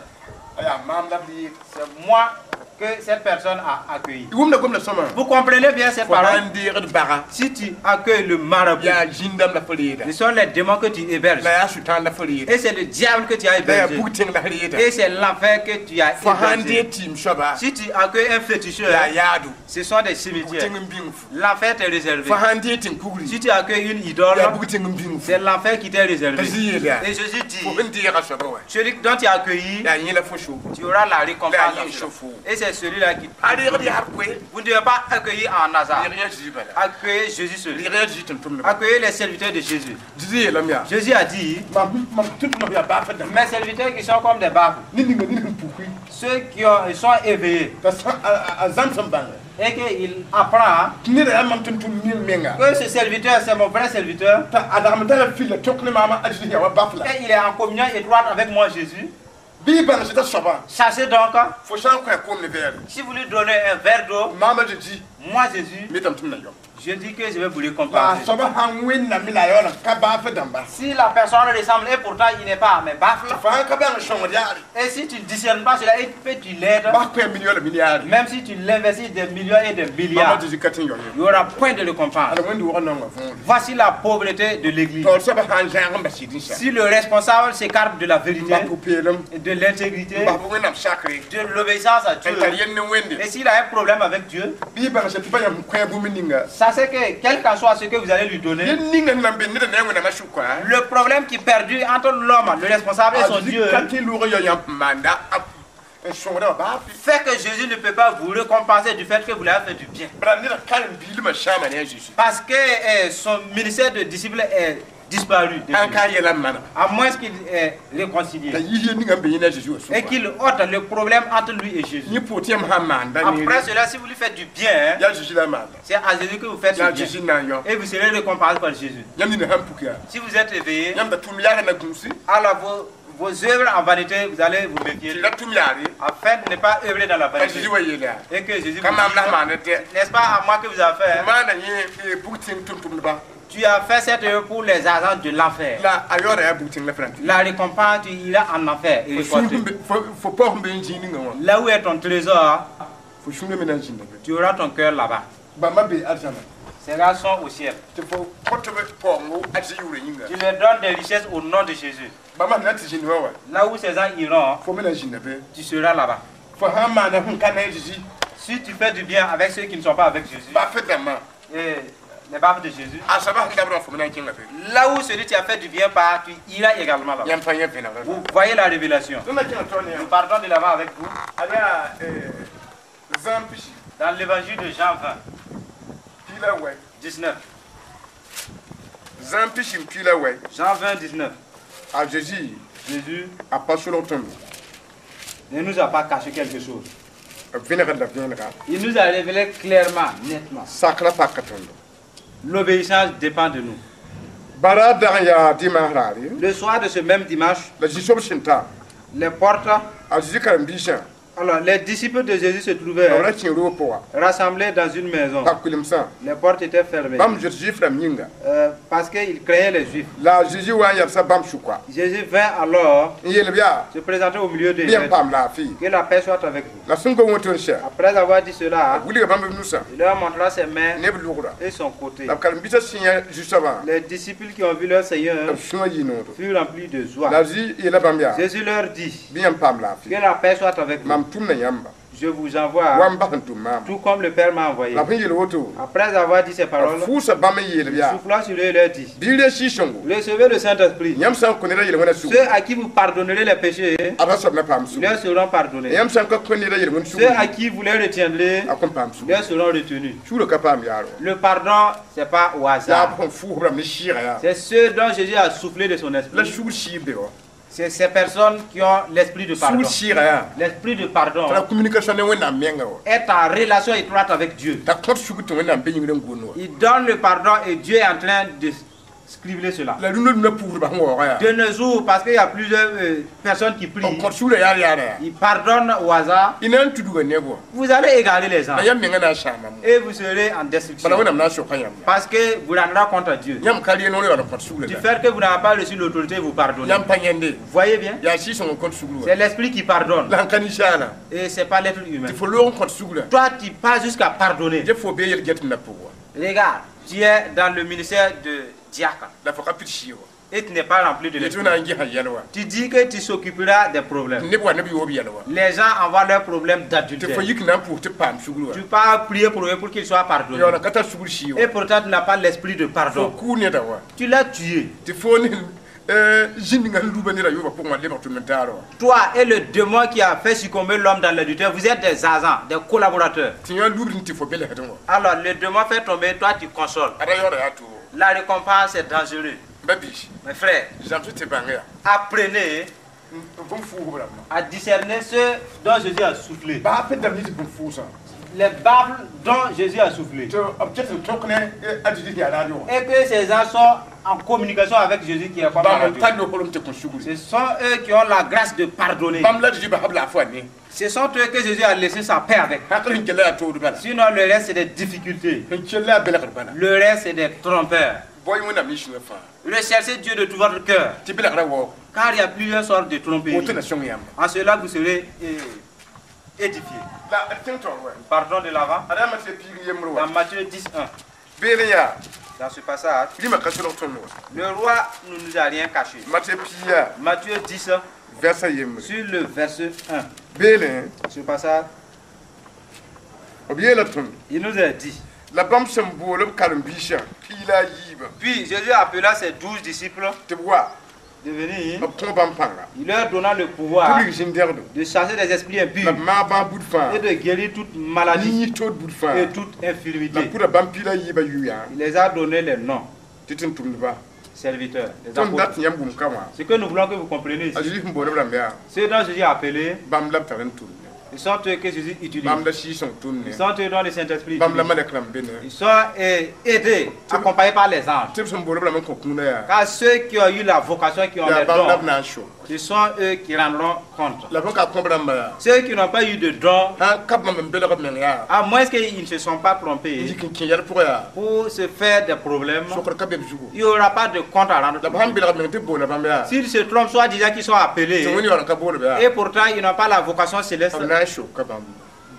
a yaa maam la b reeg c'est moi que cette personne a accueilli. wʋmda gomda sõma Vous comprenez bien cette fo parole? sãn deegd baga Si tu accueilles le marabout, yaa zĩn-dãmb la fo reeda ce sont les démons que tu héberges. la yaa sʋtãan la fo reeda Et c'est le diable que tu as la yaa hébergé. bug-tẽng la f reeda Et c'est l'enfer que tu as fo sãn hébergé. deeg tɩɩm soaba Si tu accueilles un féticheur, yaa yaado ce sont des cimetières. bug-tẽng n bĩng fu L'enfer t'est réservé. fo sãn deeg tẽn-kugri Si tu accueilles une idole, yaa bug-tẽng n bĩng fu c'est l'enfer qui t'est réservé. T'a Zezi yeela Et Jésus dit, fo sẽn deega soaba wã celui dont tu as accueilli, yaa yẽ la fo soobo tu auras la récompense. La dans yin cela. chauffe. Et c'est celui-là qui... a reegd yaa b koe Vous ne devez pas accueillir en hasard. reeg yaa Zezi bala Accueillez Jésus seul. reeg yaa Zezi tʋm-tʋmdbã Accueillez les serviteurs de Jésus. Zezi yeelame yaa Jésus a dit, mam mam tʋm-tʋmdbã yaa baaf dãmba mes serviteurs qui sont comme des baffles, ned ninga ned sẽn puki ceux qui ont, ils sont éveillés t'a sã- a a zãms n bãnge et qu'il apprend tɩ neda yaa mam tʋm-tʋmd meng menga que ce serviteur, c'est mon vrai serviteur, t'a a dagm tara fil la tõk ne maama a Zezi yaa wa baf la et il est en communion étroite avec moi, Jésus. bɩ y bãng sɩda soabã Sachez donc, fo sã n kõ a koom ne vɛɛre si vous lui donnez un verre d'eau, maama Zezi moi, Jésus, metame tɩ m na yao je dis que je vais vous la a récompenser. soaba sãn wẽnname la a yaool n ka baaf dãmba Si la personne ressemble et pourtant il n'est pas à mes baffles, fãa ka bãng sõngd yaare et si tu ne discernes pas cela et que tu l'aides, bas kõ a million la milliard même si tu l'investis des millions et des maama milliards, Zezi ka tɩ n yao ye il n'y aura point de récompense. ala wẽnd wʋgã naongã võore Voici la pauvreté de l'église. taoor soaba sãn zãag n bas sɩd n sa Si le responsable s'écarte de la n vérité, bas pʋ-peelem de l'intégrité, n bas wẽnnaam sakre de l'obéissance à Dieu, n tar yell ne wẽnde et s'il a un problème avec Dieu, bɩ y bãng sã tɩ pa yãmb kõ a bũmb ninga sachez que quel qu'en soit ce que vous allez lui donner, yel ninga sẽn na n be neda ne a wẽnnaamã sʋka le problème qui perdure entre l'homme, le responsable et son Dieu, ka tɩ loog n yao yãmb sẽn maanda n sõngdã wã baa fait que Jésus ne peut pas vous récompenser du fait que vous lui avez fait du bien. bala neda karen-biilmã sãama ne a Zezi Parce que eh, son ministère de disciple est disparu. depuis. sãn ka yɛla n manega À moins qu'il est réconcilié. t'a yis yel ninga n be yẽ ne a Zezi wã Et sʋka qu'il ôte le problème entre lui et Jésus. yẽ pʋʋg tɩ yãmb sãn maanda Après neere cela, si vous lui faites du bien, hein, yaa Zezi la a maanda c'est à Jésus que vous faites yaa du bien. Zezi n na n yao Et vous serez récompensé par Jésus. yãmb nina sãn puk yaa Si vous êtes éveillé, yãmb da tʋm yaara na gũusi alors vos, vos œuvres en vanité, vous allez vous méfier. tɩ ra tʋm yaare Afin de ne pas œuvrer dans la a vanité. Zezi wa yeel yaa Et que Jésus ka vous maam la dise, sẽn maand dɛ n'est-ce pas à moi que vous avez fait hein? maana yẽ bug-tẽng tʋm-tʋmdba Tu as fait cette œuvre pour les agents de l'enfer. la a yaooda yaa bug-tẽng la fãa La récompense, tu iras en enfer et récolter. fo paoog n be n zĩig ninga wã Là où est ton trésor, fo sũurã me na n zĩnda be tu auras ton cœur là-bas. bãmba be arzãna Ces gars sont au ciel. tɩ fo kõt b paoongo a Zezi yʋʋrã yĩnga Tu leur donnes des richesses au nom de Jésus. bãmba sẽn na tɩ zĩnd wã wa Là où ces gens iront, fo me na zĩnda be tu seras là-bas. fo sãn maana sẽn ka ne a Zezi Si tu fais du bien avec ceux qui ne sont pas avec Jésus, baaf dãmbã et les baves de Jésus, a soaba sẽn dabdã fo me na n kẽnga be là où celui qui a fait du bien part, tu iras également là-bas. yãmb pa yẽ vẽnegre Vous voyez la révélation. tõnd na kẽnga taoor ne Nous yãmb partons de l'avant avec vous ad yaa zãm pisi dans l'évangile de Jean vingt, piig la wɛ dix-neuf. zãm pisi n piig la wɛ Jean vingt, dix-neuf. a Zezi Jésus a pa solg tõndo ne nous a pas caché quelque chose. b vẽnegd la vẽenega Il nous a révélé clairement, nettement. sakrã paka tõndo L'obéissance dépend de nous. bara dag n yaa dimanche raare Le soir de ce même dimanche, la zĩ-soab sẽn ta les portes, a Zezi karen-biisã alors les disciples de Jésus se trouvaient b ra kẽ roog pʋga rassemblés dans une maison. pa kulemsã Les portes étaient fermées bãmb zoet zʋɩf rãmb yĩnga euh, parce qu'ils craignaient les Juifs. la a Zezi wa n yabsa bãmb sʋka Jésus vint alors n yeel b yaa se présenter au milieu d'eux. bɩ yãmb paam laafɩ Que la paix soit avec vous. la sẽn gom wẽto n sɛ Après avoir dit cela, b wilga bãmb b nusã il leur montra ses mains ne b lʋgra et son côté. la b karen-biisã sẽn yã zu-soabã Les disciples qui ont vu leur Seigneur b sũã yɩ noodo furent remplis de joie. la a Zezi yeela bãmb yaa Jésus leur dit bɩ yãmb paam laafɩ que la paix soit avec vous. mam tʋmda yãmba Je vous envoie wa n bas n tʋm maam tout comme le Père m'a envoyé. la b sẽn yeel woto Après avoir dit ces b paroles, fʋʋsa bãmb n yeel b il yaa souffla sur eux et leur dit bɩ re sɩɩg-sõngo Recevez le Saint-Esprit. yãmb sã n kõ neda yel-wẽnã sugr Ceux à qui vous pardonnerez les péchés a ra soab na paam sugr leur seront pardonnés. yãmb sã n ka kõ neda yel-wẽnd Ceux sugr à qui vous les retiendrez a kõn paam sugr leur seront retenus. suurã ka paam yaar wa Le pardon, c'est pas au yaa hasard. b sẽn fʋʋs b rãmb ne sɩɩga yaa C'est ce dont Jésus a soufflé de son la esprit. sugr sɩɩb be wa C'est ces personnes qui ont l'esprit de pardon. Sugr sɩɩga yaa L'esprit de pardon t'a communication ne Wẽnnaam menga wa est en relation étroite avec Dieu. T'a kõt sugr tɩ Wẽnnaam be yĩngr n gʋʋnd wa. Il donne le pardon et Dieu est en train de scribler cela. La rũndã rũndã puusdbã sẽn waooga yaa De nos jours, parce qu'il y a plusieurs euh, personnes qui b prient, kõt sugrã yaar yaara yaa ils pardonnent au hasard. Y na n tudga neb wã. Vous allez égarer les gens La yãmb menga na n sãamame. Et vous serez en destruction. Bala Wẽnnaam na n soka yãmb. Parce que vous rendrez compte à Dieu. Yãmb ka ree noor yaool n kõt sugrã Du la. Fait que vous n'avez pas reçu l'autorité, vous pardonnez. Yãmb pa yẽnde. Voyez bien, Yaa sɩɩg-sõng n kõt sugr wa. C'est l'esprit qui pardonne La sẽn ka ninsaala et c'est pas l'être humain. Tɩ fo loog n kõt sugrã. Toi, tu passes jusqu'à pardonner. Dẽ fo bee yel-gɛtẽmdã pʋg wa. Regarde, tu es dans le ministère de diacre La fo ka pid sɩɩg wa. Et tu n'es pas rempli de Yetɩ l'esprit. na n gesã yɛl wa. Tu dis que tu s'occuperas des problèmes. Neb wa neb yoob yɛl wa. Les gens envoient leurs problèmes Tɩ d'adultère. Fo yik na n pʋʋs tɩ paam sugr wa. Tu pars prier pour eux pour qu'ils soient pardonnés. Yaool n ka tar sugr sɩɩg wa. Et pourtant, tu n'as pas l'esprit de Fo pardon. Kʋʋ neda wa. Tu l'as tué. Tɩ fo ne zĩnd-ninga sẽn luba neda yoobã pʋgẽ wã lebg tʋm n taar wa. Toi et le démon qui a fait succomber l'homme dans l'adultère, vous êtes des agents, des collaborateurs. Tɩ yã lubd tɩ fo belsdẽ wa. Alors, le démon fait tomber, toi tu consoles. Ada yaooda yaa toogo. La récompense est dangereuse. Ba-biisi Mes frères, zãmsg tɩ bãng yaa apprenez n bũmb fuusb rãmbã. À discerner ce dont Jésus a soufflé. Baa pe dãmb yɩ tɩ bũmb fuusã. Les baffles dont Jésus a soufflé. Tɩ b ket n tõk ne a Zezi yaa raado wã. Et que ces gens sont en communication avec Jésus qui est comme la Bãmb n radio. Tar lokolem tɩ kõ sugri. Ce sont eux qui ont la grâce de pardonner. Bãmb la Zezi basa b laafɩ wã ne. Ce sont eux que Jésus a laissé sa paix avec. Hakl sẽn kell yaa tood bala. Sinon, le reste, c'est des difficultés. Sẽn kell yaa belgr bala. Le reste, c'est des trompeurs. Bao-y Wẽnnaam ne sũyã fãa. Recherchez Dieu de tout votre cœur. Tɩ belgrã waoog. Car il y a plusieurs sortes de tromperies. Woto na sõng yãmba. En cela, vous serez euh, édifiés. La d tẽng taoor wa. Pardon de l'avant. Ada yaa Matɩ piig n yembre wa. Dans Matthieu dix, un. Beelẽ yaa Dans ce passage, rĩmã ka solg tõnd wa. Le roi ne nous a rien caché. Matɩ piiga Matthieu dix, vɛrsa yembre. Sur le verset un. Beelẽ Ce passage, b yeela tõnd. Il nous a dit. La bãmb sẽn bool b karen-biisã piig la a yiibã. Puis Jésus appela ses douze disciples Tɩ b wa de venir. B kõ bãmb pãnga. Il leur donna le pouvoir Tɩ b rig zĩn-dɛgdo. De chasser des esprits La impurs b maag bãag bud fãa. Et de guérir toute maladie Yĩ tood bud fãa. Et toute La infirmité. pʋda bãmb piig la a yiibã yʋ-yaa. Il les a donné les noms, Tɩ tʋm-tʋmdba. Serviteurs, les Tõnd apôtres. dat tɩ yãmb wʋm ka wã. Ce que nous voulons que vous compreniez A ici, Zezi sẽn bool b rãmb yaa. Ce dont Jésus a appelé, Bãmb la b tar n tʋmne. Ils sont eux que Jésus utilise. Bãmb la Sɩɩg-sõng tʋmne. Ils sont eux dont le Saint-Esprit Bãmb la utilise. malɛk rãmb be ne. Ils sont euh, aidés, accompagnés par les anges. Tɩ b sẽn bool b rãmb n kõ kũunã yaa. Car ceux qui ont eu la vocation, qui ont Yaa les bãmb la b dons, na n so. Ce sont eux qui rendront compte. La b sẽn ka kõb rãmba yaa. Ceux qui n'ont pas eu de dons, Sã n ka bãmb n belg b meng yaa. À moins qu'ils ne se sont pas N trompés, yik n kẽ yɛl pʋgã yaa. Pour se faire des problèmes, Sokr ka be b zugu. Il n'y aura pas de compte à rendre. La b sãn belg b meng tɩ b boola bãmb yaa. S'ils se trompent, soit disant qu'ils sont appelés, Tɩ Wẽnd yaool n ka bool b yaa. Et pourtant ils n'ont pas la vocation céleste, B na n soka bãmb.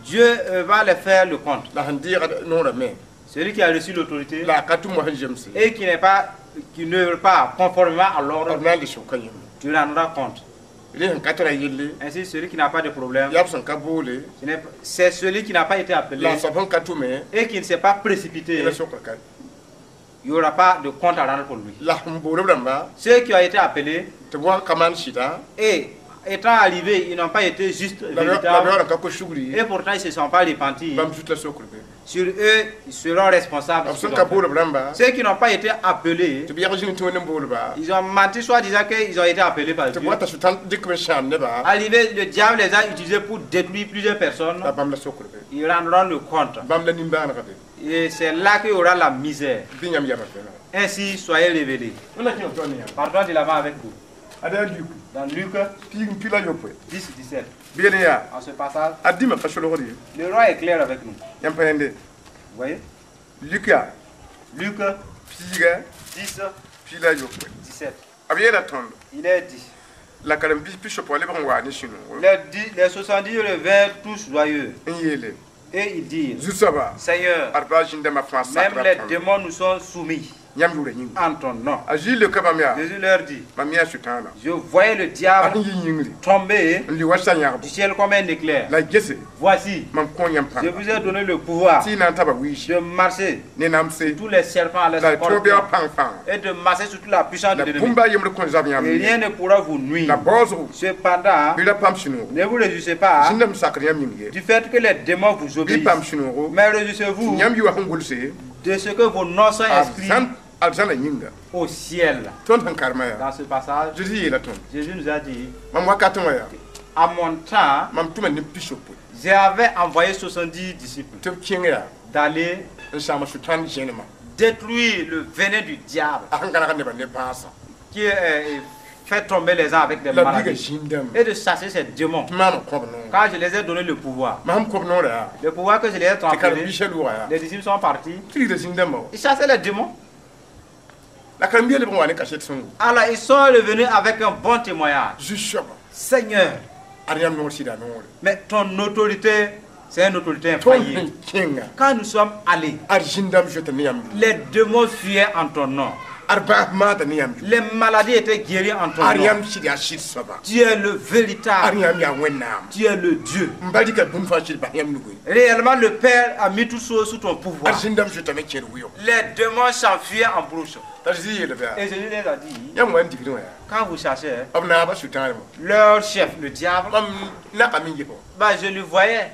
Dieu euh, va les faire le compte. La sẽn deega noorã me. Celui qui a reçu l'autorité La a ka tʋm wa sẽn zemse. Et qui n'est pas, qui n'œuvre pas conformément à l'ordre, B na n le soka yẽmb. Tu rendras compte. Rẽ sẽn ka tara yelle. Ainsi, celui qui n'a pas de problème, Yaa b sẽn ka boole. Ce n'est- c'est celui qui n'a pas été appelé La a soab sẽn ka tʋme. Et qui ne s'est pas précipité, La sokr ka. Il n'y aura pas de compte à rendre pour lui. La sẽn bool b rãmba. Ceux qui ont été appelés Tɩ b wa n ka maan sɩda. Et étant arrivés, ils n'ont pas été justes, La b véritables, yaool n ka kos sugri. Et pourtant ils ne se sont pas repentis. Bãmb zut la sokr be. Sur eux, ils seront responsables. B De ce sẽn qu'ils ka ont fait. bool b rãmba. Ceux qui n'ont pas été appelés, Tɩ b yag zĩng tɩ Wẽnd n bool ba. Ils ont menti, soit disant qu'ils ont été appelés par Tɩ Dieu. b wa t'a sʋtãn dɩk b n sãam nebã. Arrivé, le diable les a utilisés pour détruire plusieurs personnes. La bãmb la sokr be. Ils rendront le compte. Bãmb la nimbãanega be. Et c'est là qu'il y aura la misère. Bɩ yãmb yamã vẽnega. Ainsi, soyez révélés. Wẽnna kẽ b tõe ne yãmb. Pardon de l'avant avec vous. Ada yaa Luk. Dans Luc Piig n pila yopoe. dix, dix-sept. Beelẽ yaa. En ce passage, A dĩmã ka solgd ye. Le roi est clair avec nous. Yãmb pa yẽnde. Vous voyez? Luk yaa. Luc Piiga dix, pila yopoe. dix-sept. B yeela tõndo. Il est dit. La karen-biis pisoab lebg n waa ne sũ-noogo. Les, dix- les soixante-dix revinrent tous joyeux. N yeele. Et ils dirent, Zu-soaba. Seigneur, Ad baa zĩn-dãmbã fãa même sakra les tõndo. Démons nous sont soumis Yãmb yʋʋra yĩnga. En ton nom. A Zezi leoka bãmb yaa. Jésus leur dit, Mam yã Sʋtãana. Je voyais le A diable sẽn yi yĩngri. Tomber N li wa sa-yãgbo. Du ciel comme un éclair. La gese. Voici, Mam kõ yãmb je pãnga. Vous ai donné le pouvoir Tɩ y na n taba wiisi. De marcher Ne namse. Tous les serpents à La leur tõ bɩa pãng fãa. et de marcher sur toute la puissance de La l'ennemi. bũmb a yembr kõn zab yãmb Et ye. rien ne pourra vous nuire. La baoosgo. Cependant, Bɩ ra paam sũ-noogo. Ne vous réjouissez pas Zĩn-dãmb sakr yãmb yĩng ye. du fait que les démons vous Bɩ paam obéissent. sũ-noogo. Mais réjouissez-vous Yãmb yʋa sẽn gʋlse. de ce que vos noms sont A inscrits zãn Arzãna yĩnga. Au ciel. Tõnd sẽn karema yaa. Dans ce passage, Zeezi yeela tõnd. Jésus nous a dit, Mam wakatẽ wã yaa. À mon temps, Mam tʋma neb pis-yopoe. J'avais envoyé soixante-dix disciples Tɩ b kẽng yaa. D'aller N sãam sʋtãan zẽnema. Détruire le venin du diable A sẽn gãneg nebã ne bãasã. Qui euh, fait tomber les gens avec des La biiga maladies zĩndame. Et de chasser ces démons. Tɩ maam n kõb noor. Quand je les ai donné le pouvoir, Mam sẽn kõb noorã yaa. Le pouvoir que je les ai Tɩ transféré, karen-biisã lʋʋga yaa. Les disciples sont partis. Tɩ rigda zĩn-dãmbã wa. Ils chassaient les démons. La karen-biisã leb n wa ne kaset sõngo. Alors ils sont revenus avec un bon témoignage. Zu-soaba. Seigneur, Ad yãmb noor sɩda noore. Mais ton autorité, c'est une autorité Tõnd infaillible. sẽn kẽnga. Quand nous sommes allés, Ad zĩn-dãmb zoeta ne yãmb yʋʋre. Les démons fuyaient en ton nom. Ad bãas maada ne yãmb yʋʋre. Les maladies étaient guéries en ton Ad nom. yãmb sɩd yaa sɩd soaba. Tu es le Ad véritable. yãmb yaa Wẽnnaam. Tu es le Dieu. N ba rɩka bũmb fãa sɩd bas yãmb nugẽ. Réellement, le Père a mis toutes choses sous ton pouvoir. Ad zĩn-dãmb zoetame kẽer wɩʋg. Les démons s'enfuyaient en brousse. T'a Zezi yeela bɩ Et Jésus les a dit, yãmb wa n digdẽ wã yaa. Quand vous cherchez B naabã sʋtãanema. Leur chef, le diable, Mam nakame n ges bah, je le voyais.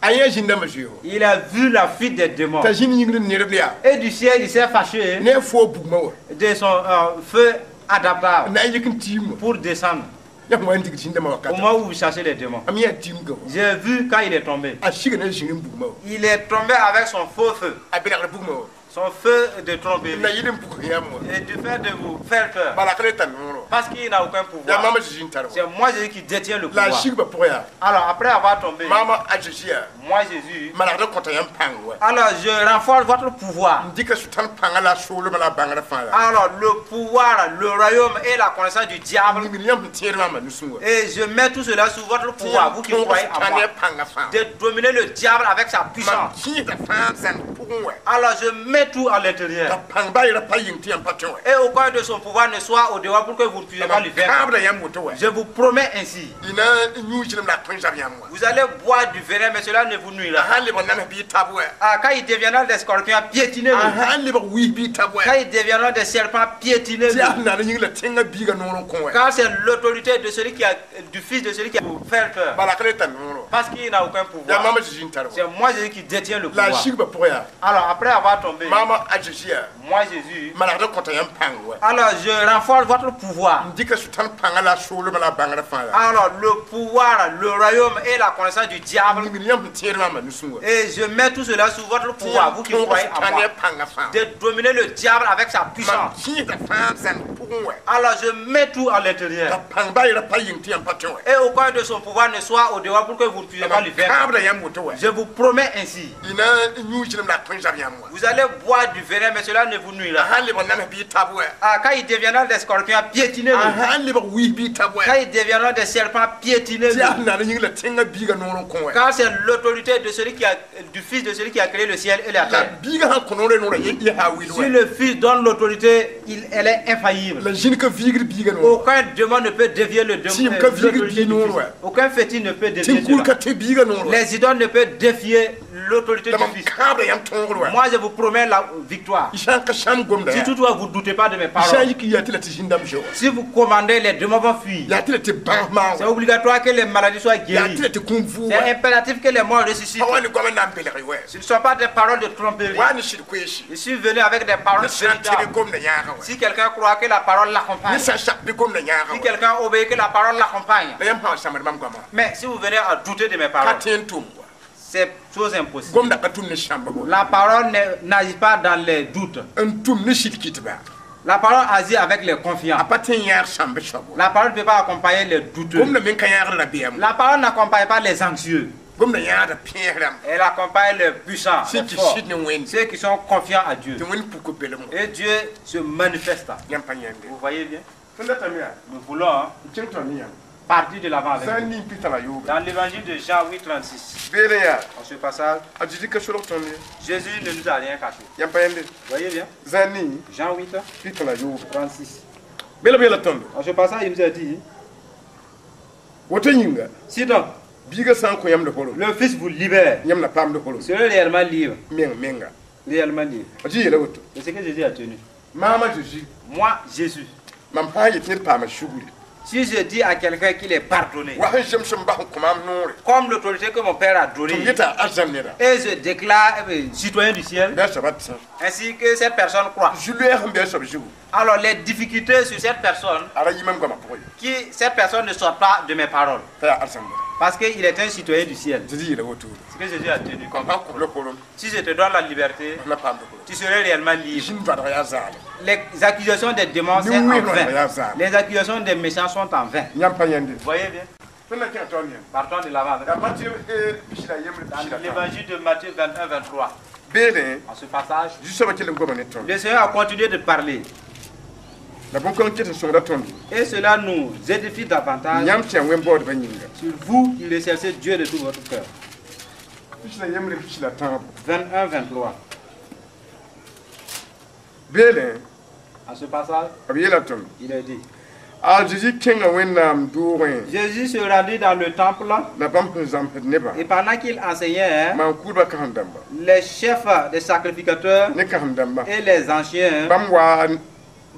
A yẽ zĩn-dãmbã zoeego. Il a vu la fuite des démons. T'a zĩnd yĩngr n nedb yaa. Et du ciel, il s'est fâché Ne a foo bugmã wa. De son euh, feu adaptable Na n yik n tiim wã. Pour descendre. Yãmb wa n digd zĩn-dãmbã Au wakata. moment où vous cherchez les démons, Am yã tiimga wa. J'ai vu quand il est tombé. A siga ne zĩng n bugmã wa. Il est tombé avec son faux feu, A belgr bugmã wa. Son feu de tromperie. Na yɩl n puk yãmb wa. Et du fait de vous faire peur. Bala ka le tar noor wa. Parce qu'il n'a aucun Yaa pouvoir. maam a Zeezi n tar wa. C'est moi, Jésus, qui détient le La a pouvoir. sigba pʋgẽ yaa. Alors, après avoir tombé, Maam a Zeezi yaa. Moi, Jésus, Manegd n kõta yãmb pãng wa. Alors je renforce votre pouvoir. N dɩka sʋtãan pãngã la a soolmã la a bãngrã fãa yaa. Alors, le pouvoir, le royaume et la connaissance du diable. Yĩngr yãmb sẽn tẽed maamã nusẽ wa. Et je mets tout cela sous votre pouvoir, vous qui croyez en moi. Sʋtãan pãngã fãa. De dominer le diable avec sa Mam puissance. kẽesda fãa zãng pʋgẽ wa. Alors, je mets tout à l'intérieur. La pãng ba yɛla pa yĩng tɩ yãmb pa tõe wa. Et aucun de son pouvoir ne soit au dehors pour que vous ne puissiez pas lui vaincre. Kãabda yãmb woto wa. Je vous promets ainsi. Y na n yũ zɩlem la a tõe zab yãmb wa. Vous allez boire du venin, mais cela ne vous nuira. A sãn lebg nams bɩ y tab wa. Ah, quand ils deviendront des scorpions, piétinez-le. A sãn lebg wiis bɩ y tab wa. Quand ils deviendront des serpents, piétinez-le. Tɩ yaa sẽn na n yĩng la tẽngã biigã noor n kõ wa. Quand c'est l'autorité de celui qui a, du fils de celui qui a vous faire peur. Bala ka le tar noor wa. Parce qu'il n'a aucun Yaa pouvoir. maam a Zeezi n tar wa. C'est moi, Jésus, qui détient le La a pouvoir. sigba pʋgẽ yaa. Alors, après avoir tombé, Maam a Zeezi yaa. Moi, Jésus, Manegd n kõta yãmb pãng wa. Alors je renforce votre pouvoir. N dɩka sʋtãan pãngã la a soolmã la a bãngrã fãa yaa. Alors, le pouvoir, le royaume et la connaissance du diable. Yĩngr yãmb sẽn tẽed maamã nusẽ wa. Et je mets tout cela sous votre pouvoir, vous qui croyez en moi. Pãngã fãa. De dominer le diable avec sa Mam puissance. kẽesda fãa zãng pʋgẽ wa. Alors, je mets tout à La l'intérieur. pãng ba yɛla pa yĩng tɩ yãmb pa tõe wa. Et aucun de son pouvoir ne soit au dehors pour que vous ne puissiez pas lui vaincre. Kãabda yãmb woto wa. Je vous promets ainsi. Y na n yũ zɩlem la a tõe zab yãmb wa. Vous allez boire du venin, mais cela ne vous nuira. A sãn lebg nams bɩ y tab wa. Ah, quand ils deviendront des scorpions, piétinez-le. A sãn lebg wiis bɩ y tab wa. Quand ils deviendront des serpents, piétinez-le. Tɩ yaa sẽn na n yĩng la tẽngã biigã noor n kõ wa. Quand c'est l'autorité de celui qui a, du fils de celui qui a créé le ciel et la La terre. biigã sãn kõ noorã noorã yẽ yaa wil wa. Si le fils donne l'autorité, il, elle est infaillible. La zĩn ka viigd biigã noor. Aucun démon ne peut dévier le démon. Si, ka viigd L'autorité du bii noor fils. wa. Aucun fétiche ne peut dévier Tɩ kul cela. ka tẽ biigã noor wa. Les idoles ne peuvent défier l'autorité La du mam fils. kãabda yãmb tõogr wa. Moi, je vous promets la victoire. Y sã n ka sãm gomda Si yaa. toutefois vous ne doutez pas de mes Y sã n paroles, yik n yaa tɩ la tɩ zĩn-dãmb zoe wa. Si vous commandez, les démons vont fuir. Yaa tɩ la tɩ bãas maag C'est wa. obligatoire que les maladies soient Yaa tɩ guéries. la tɩ kũum vʋʋg C'est wa. impératif que les morts ressuscitent. Pa wa ne goam n na n belg wa. Ce ne sont pas des paroles de tromperie. Wa ne sɩd koeesi. Je suis venu avec des paroles Ne sã n tɩ véritables. gomda yãagã wa. Si quelqu'un croit que la parole Ne l'accompagne, sã n sak bɩ gomda yãagã si wa. quelqu'un obéit que la parole l'accompagne, La yãmb sã n sãmbd mam goamã. Mais si vous venez à douter de mes Ka paroles, tõe n tʋm wa. C'est chose impossible. Gomda ka tʋm ne sãmba wa. La parole ne- n'agit pas dans les doutes. N tʋm ne sɩd kɩtba. La parole agit avec les confiants. A pa tõe n yãag sãmb soab wa. La parole ne peut pas accompagner les douteux. Gomda men ka yãagd rabeem. La parole n'accompagne pas les anxieux. Gomda yãagda pẽes rãmb. Elle accompagne les puissants, Ceux les qui forts, sɩd ne Wẽnd. ceux qui sont confiants à Dieu. Tɩ Wẽnd puk belem wa. Et Dieu se manifeste. Yãmb pa yãnde. Vous voyez bien? Tõnd datame yaa. Nous voulons, hein, N kẽng tõnd ne yãmb. Partir de l'avant avec Sã n vous. ning pita la yoobe. Dans l'évangile de Jean huit, trente-six, Beere yaa. en ce passage, A Zeezi ka solg tõnd ye. Jésus ne nous a rien caché. Yãmb pa yãnde. Vous voyez bien? Zã ning Jean huit, pita la yoobe. trente-six. Bela b yeela tõndo. En ce passage, il nous a dit, Woto yĩnga. Si donc Biigã sã n kõ yãmb dohoro. Le Fils vous libère, Yãmb na paam dohoro. Serez réellement libre. Meng menga. Réellement libre. A Zeezi yeela woto. C'est ce que Jésus a tenu. Maam a Zeezi. Moi, Jésus, Mam sã n yet ned paama sugri. Si je dis à quelqu'un qu'il est pardonné, wa sẽn zems n bas n kõ maam noore comme l'autorité que mon père a tɩ m donnée, yeta arzãn neda et je déclare eh bien, citoyen du ciel, bɩ a soaba tẽ ainsi que cette personne croit. zu-loɛɛg sẽn be a soab zugu Alors les difficultés sur cette personne, a ra yɩ mam goamã pʋgẽ ye qui cette personne ne sort pas de mes paroles, t'a yaa arzãn neda parce qu'il est un citoyen du ciel. Zezi yeela woto Ce que Jésus a tenu comme. mam sãn kos la korom Si je te donne la liberté, m na paam koro tu serais réellement libre. zĩn vadg yaa zaale Les accusations des démons, c'est en vain. Les accusations des méchants sont en vain. yãmb pa yẽnde Vous voyez bien? Tõnd na kẽng taoor yẽnd Partons de l'avant. yaa Matthieu pis la yembre Dans pis la tãabo l'évangile de Matthieu vingt-un, vingt-trois, beene en ce passage, Zu-soabã kell n goma ne tõnd le Seigneur a continué de parler. la bõn-kãng ket n sõngda tõndo Et cela nous édifie davantage yãmb sẽn yaa wẽn-baoodbã yĩnga sur vous qui recherchez Dieu de tout votre cœur. pis la yembre pis la tãabo vingt-un, vingt-trois. beene En ce passage, b yeela tõnd il est dit: a Zezi kẽnga Wẽnnaam doogẽ Jésus se rendit dans le temple la bãmb sẽn zãmsd nebã et pendant qu'il enseignait, maan-kʋʋdbã kãsem-dãmba les chefs des sacrificateurs ne kãsem-dãmba et les anciens bãmb wa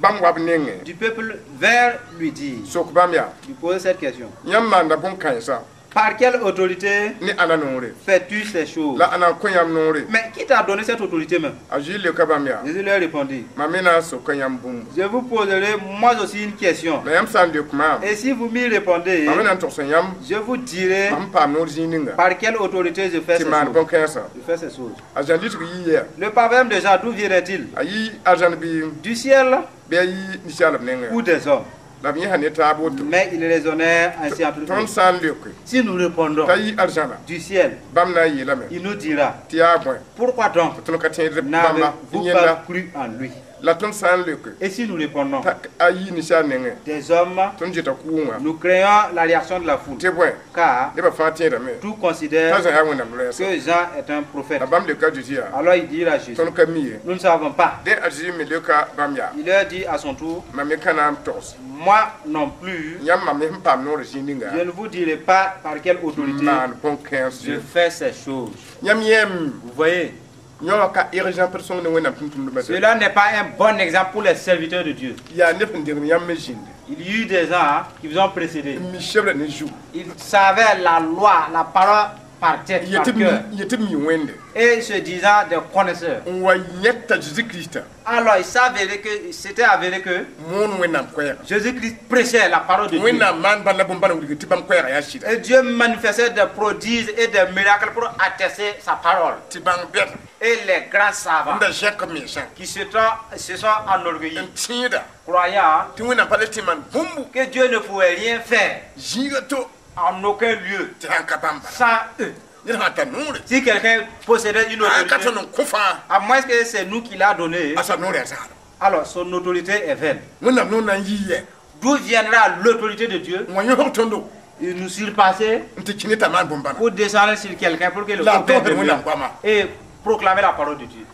bãmb wa b nengẽ du peuple vinrent lui dire, sok bãmb yaa lui poser cette question: yãmb maanda bõn-kãensa Par quelle autorité ne ãnna noore fais-tu ces choses? La ãnna n kõ yãmb noore Mais qui t'a donné cette autorité même? A Zezi leoka bãmb yaa Jésus leur répondit: mam me na n soka yãmb bũmb Je vous poserai moi aussi une question. La yãmb sã n leok maam Et si vous m'y répondez, mam me na n togs yãmb je vous dirai mam paam noor zĩig ninga par quelle autorité je fais tɩ ces maan choses. bõn-kãensã Je fais ces choses. A Zã lisg yii yɛa Le proverbe de Jean, d'où viendrait-il? A yɩ arzãn bɩ Du ciel bɩ a yɩ ninsaalb nengẽ ou des hommes? La b yẽsa ne taab woto Mais il raisonnait ainsi entre eux. Tõnd sã n leoke Si nous répondons t'a yɩ arzãna du ciel, bãmb na n yeelame il nous dira: tɩ yaa bõe Pourquoi donc tɩ tõnd ka tẽed bãmba n'avez-vous yẽnda pas cru en lui? La tõnd sã n leoke Et si nous répondons t'a a yɩ ninsaal nengẽ des hommes, tõnd zeta kʋʋngã nous craignons la réaction de la foule. Tɩ bõe Car nebã fãa tẽedame tout t'a considère Zã yaa Wẽnnaam loɛɛsa que Jean est un prophète. La bãmb leoka Zezi yaa Alors il dit à Jésus: tõnd ka mi ye Nous ne savons pas. Dẽ a Zezi me leoka bãmb yaa Il leur dit à son tour: mam me ka na n togs Moi non plus, yãmb mam me sẽn paam noor zĩig ninga je ne vous dirai pas par quelle autorité maan bõn-kãens je fais ces choses. Yãmb yẽem Vous voyez, yõ ka exemple sõng ne Wẽnnaam tʋm-tʋmdbã cela n'est pas un bon exemple pour les serviteurs de Dieu. Yaa neb sẽn dengd yãmb me zĩndi Il y eut des gens qui vous ont précédé. N mi sebra ne zu Ils savaient la loi, la parole par tête, par cœur. Yetɩ b mi Wẽnde Et se disant des connaisseurs. N wa yẽta Zeezi Kirista Alors il s'avérait que, c'était avéré que moon Wẽnnaam koɛɛga Jésus-Christ prêchait la parole de Dieu. Wẽnnaam maan bãn la bõn-bãna wilg tɩ bãmb koɛɛga yaa sɩda Et Dieu manifestait des prodiges et des miracles pour attester sa parole. Tɩ bãng bɛd Et les grands savants n da zẽk b mensã qui se sont, se sont enorgueillis, n tẽeda croyant tɩ Wẽnnaam pa le tɩ maan bũmbu que Dieu ne pouvait rien faire zĩiga to en aucun lieu tɩ sãn ka bãmb bala sans eux. Ned sã n tar noore Si quelqu'un possédait une sãn ka autorité, tõnd n kõ fãa à moins que c'est nous qui l'a donné, a soab noor yaa zaalem alors son autorité est vaine. Wẽnnaam noor na n yii yɛ D'où viendra l'autorité de Dieu? N wa yõsg tõndo Il nous surpasser n tɩ kẽ ne t'a maan bõn-bãna pour descendre sur quelqu'un pour qu'il le La opère toog de Wẽnnaam mieux goama et proclamer la parole de Dieu.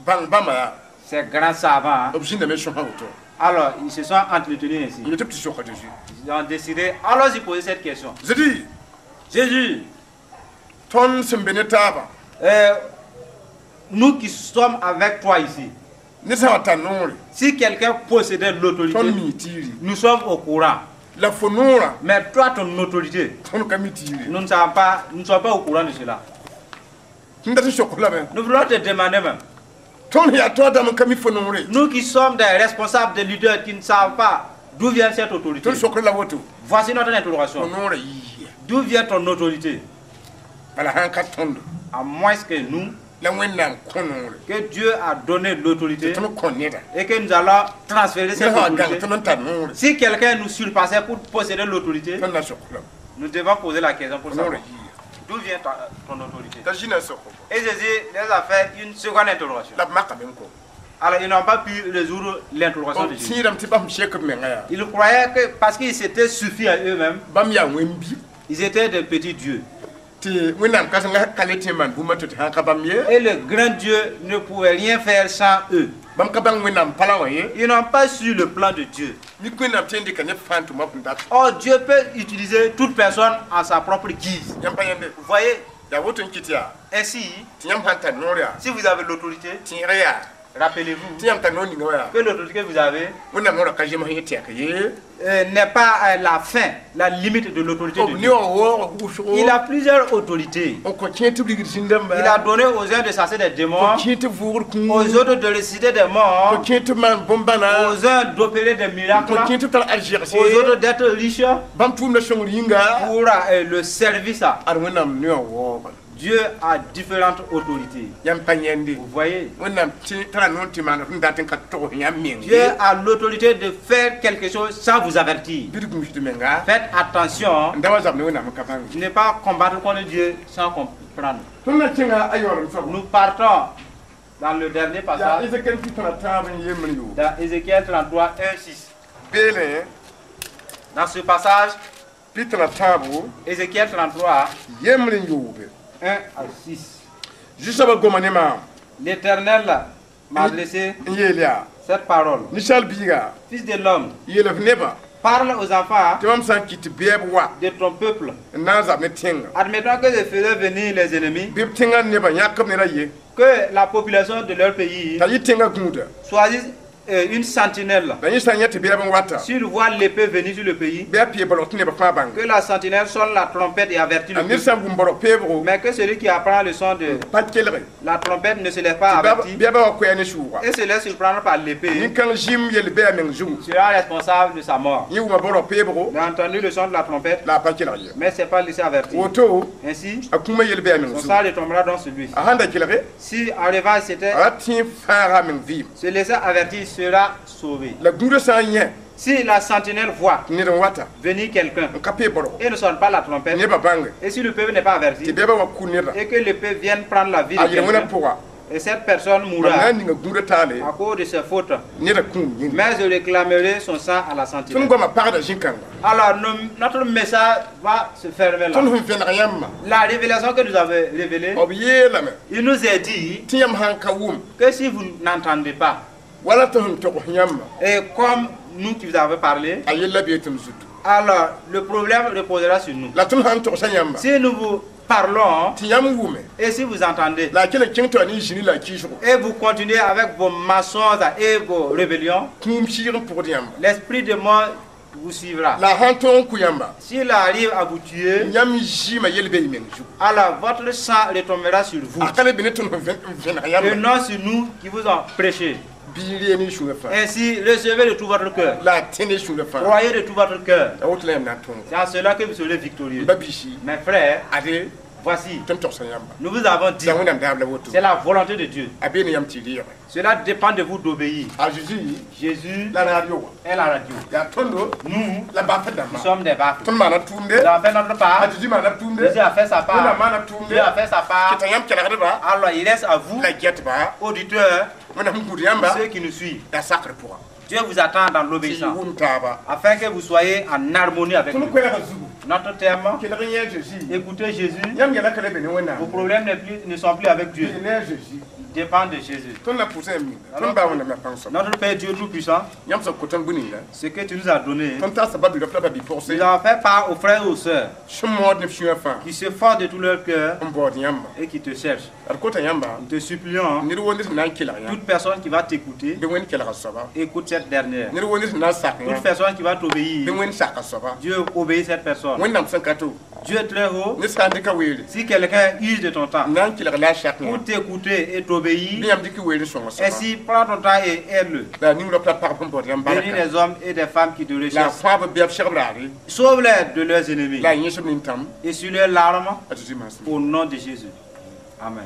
Bãng bãmba yaa Ces grands savants, hein, b zĩndame sõsa woto alors ils se sont entretenus ainsi. N yetɩ b tɩ soka Zeezi Ils ont décidé, allons-y poser cette question. Zedi Jésus, tõnd sẽn be ne taabã euh, nous qui sommes avec toi ici, ned sã n wa tar noore si quelqu'un possédait l'autorité, tõnd mi tiiri nous sommes au courant. La fo noorã Mais toi, ton autorité, tõnd ka mi tiiri nous ne savons pas, nous ne sommes pas au courant de cela. N dat n sok lame Nous voulons te demander même, tõnd yaa taoor dãmb n ka mi fo noore nous qui sommes des responsables, des leaders qui ne savent pas d'où vient cette autorité. Tõnd sokr la woto Voici notre fo interrogation. noorã yii D'où vient ton autorité? Bala sãn ka tõndo À moins que nous, la Wẽnnaam kõ noore que Dieu a donné l'autorité tõnd kõ neda et que nous allons transférer cette ned sã n wa gãng autorité. tõnd n tar noore Si quelqu'un nous surpassait pour posséder l'autorité, tõnd na sok lame nous devons poser la question pour fo noorã savoir yii d'où vient ta- ton autorité. T'a zĩna sok Et Jésus les a fait une seconde interrogation. La b makame n kõ Alors ils n'ont pas pu résoudre l'interrogation de b Jésus. tẽedame tɩ bãmb sek b menga yaa Ils croyaient que parce qu'ils s'étaient suffi à eux-mêmes, bãmb yaa wẽn-bi ils étaient des petits dieux. Tɩ Wẽnnaam kãsengã ka le tẽ n maan bũmb to tɩ sãn ka bãmb ye Et le grand Dieu ne pouvait rien faire sans eux. Bãmb ka bãng Wẽnnaam palã wã ye Ils n'ont pas su le plan de Dieu. Mik Wẽnnaam tõe n dɩka neb fãa n tʋma b sẽn dat Or, Dieu peut utiliser toute personne en sa propre guise. Yãmb pa yẽnde Vous voyez, yaa woto n kɩt yaa ainsi, tɩ yãmb sãn tar noor yaa si vous avez l'autorité, tẽeg yaa Rappelez-vous tɩ yãmb tar noor ninga wa yaa que l'autorité que vous avez Wẽnnaam noorã ka zems yẽ tɩ yaa ka ye euh, n'est pas euh, la fin, la limite de l'autorité de b Dieu. ne wã waoogã wʋsgo Il a plusieurs autorités. n kõ kẽer tɩ b rigd zĩn-dãmba Il a donné aux uns de chasser des démons, kõ kẽer tɩ vʋʋgr kũum aux autres de ressusciter des kõ morts, kẽer tɩ b maan bõn-bãna aux uns d'opérer des miracles, kõ kẽer tɩ b tar arzɛgse aux autres d'être riches bãmb tʋʋmdã sõngr yĩnga pour euh, le service. ad Wẽnnaam ne wã waoogã Dieu a différentes autorités. Yãmb pa yãende Vous voyez, Wẽnnaam tẽ tara noor tɩ maan f n dat n ka togs yãmb meng Dieu a l'autorité de faire quelque chose sans vous avertir. Bɩ d gũus d menga Faites attention n da wa zab ne Wẽnnaam n ka bãng de ne pas combattre contre Dieu sans comprendre. Tõnd na kẽnga a yaoolem soabo Nous partons dans le dernier yaa passage, Ezekiel pis tã tãab n yembr yo dans Ézéchiel trente-trois, un, six. Beelẽ Dans ce passage, pis tã tãabo Ézéchiel trente-trois, yembr n yoobe un à six. Zu-soabã goma ne maam L'Éternel m'a adressé n yeel yaa cette parole. Ninsaal biiga Fils de l'homme, yeel f nebã parle aux enfants tɩ mam sã n kɩt tɩ bɛɛb wa de ton peuple. N na n zab ne tẽnga Admettons que je faisais venir les ennemis, bɩ b tẽngã nebã yãk b ned a ye que la population de leur pays t'a yɩ tẽngã gũuda choisisse euh, une sentinelle. La yẽ sã n yã tɩ bɛɛb n wata S'il voit l'épée venir sur le pays, bɩ a pee balg tɩ nebã fãa bãnga que la sentinelle sonne la trompette et avertit a le ned peuple. sã n wʋm barg peebgo Mais que celui qui apprend le son de pa kelge la trompette ne se laisse pas tɩ avertir bɛɛbã wa koɛɛ ne sʋʋga et se laisse surprendre par l'épée, nin-kãng zĩm yel bɩ a meng zugu sera responsable de sa mort. Yẽ wʋma barg peebgo Il a entendu le son de la trompette, la a pa kelg ye mais ne s'est pas laissé avertir. Woto Ainsi, a kũumã yel bɩ a meng son zugu sang retombera dans celui. A sãn da kelge Si en revanche c'était a ra tẽ fãaga a meng vɩɩm se laisser avertir, sera sauvé. La gũudã sã n yẽ Si la sentinelle voit tɩ ned n wata venir quelqu'un n ka pee bargo et ne sonne pas la trompette, nebã bãnge et si le peuple n'est pas tɩ averti, bɛɛbã wa ku nedã et que le peuple vienne prendre la vie de a yel wẽna quelqu'un, pʋga et cette personne mam mourra na n ninga gũudã taale à cause de ses fautes, nedã kũum yĩnga mais je réclamerai son sang à la tõnd sentinelle. goamã pagda zĩ-kãnga Alors, nos- notre message va se fermer là. Tõnd sẽn vẽneg yãmbã La révélation que nous avons révélée, b yeelame il nous est dit tɩ yãmb sãn ka wʋm que si vous n'entendez pas, wala tɩ sẽn togs yãmba et comme nous qui vous avons parlé, a yella bee tɩ m zutu alors le problème reposera sur nous. La tõnd sãn togsa yãmba Si nous vous parlons tɩ yãmb wʋme et si vous entendez, la a kell n kẽng tɩ wa ne zĩni la a kɩɩsgo et vous continuez avec vos mensonges et vos rébellions, kũum sɩɩg n pʋgd yãmba l'esprit de mort vous suivra. La a sãn tõog n kʋ yãmba S'il arrive à vous tuer, yãmb zɩɩmã yel bee y meng zugu alors votre sang retombera sur vous. A ka le be ne tõnd sẽn vẽneg Et yãmba non sur nous qui vous ont prêché. Bɩ y ree ne y sũurã fãa Ainsi, recevez de tout votre cœur. La a tẽ ne sũurã fãa Croyez de tout votre cœur. A woto la yãmb na n tõog C'est en cela que vous serez victorieux. Ba-biisi Mes frères, ade voici, tõnd togsa yãmba nous vous avons dit, la Wẽnnaam daab la woto c'est la volonté de Dieu. A bee ne yãmb tɩ y reege Cela dépend de vous d'obéir. A Zeezi Jésus la radio wã est la radio. Yaa tõndo Nous, la bafd nous dãmbã sommes des baffes. Tõnd maana tʋʋmde Nous avons fait notre part. A Zeezi maana tʋʋmde Jésus a fait sa part. Wẽnnaam maana tʋʋmde Dieu a fait sa part. Kɩta yãmb kelgdba Alors, il reste à vous, la gɛtba auditeurs, Wẽnnaam sẽn gũud yãmba ceux qui nous suivent. la sakr pʋga Dieu vous attend dans tɩ y l'obéissance, wʋm taaba afin que vous soyez en harmonie avec Tõnd lui. koɛɛgã zugu Notre thème, kelg n yẽ Zeezi écoutez Jésus. Yãmb yɛla ka le be ne Wẽnnaam Vos problèmes n'est plus- ne sont plus avec Dieu. Bɩ ne a Zeezi Ils dépendent de Jésus. Tõnd na pʋʋsã yãmb ninga tõnd baa Wẽnnaam la pãng soaba Notre Père Dieu Tout-Puissant, yãmb sẽn kõ tõnd bũ-ninga ce que tu nous as donné, tõnd taasa ba-bi-rap la ba-bi-pʋgse nous avons fait part aux frères et aux sœurs sẽn mood ne b sũyã fãa qui se forcent de tout leur cœur n baood yãmba et qui te cherchent. D kota yãmba Nous te supplions, ned woo ned sẽn na n kelg yãmb toute personne qui va t'écouter, bɩ Wẽnd kelga soaba écoute cette dernière. Ned woo ned sẽn na n sak Toute yã personne qui va bɩ t'obéir, Wẽnd saka soaba Dieu obéit cette personne. Wẽnnaam sẽn ka to Dieu est très haut. Ned sã n dɩka weere Si quelqu'un use de ton temps n na n kelg la a sak yã pour t'écouter et t'obéir, bɩ yãmb dɩk weere sõnga soaba ainsi prends ton temps et aide-le. La a ning rap la pagb sẽn baood yãmb Bénis barka les hommes et des femmes qui te la a recherchent. fãab b bɛb segb raare Sauve-les de leurs ennemis la a yẽsb nintam et sur leurs larmes a Zeezi maasem au nom de Jésus. Amen.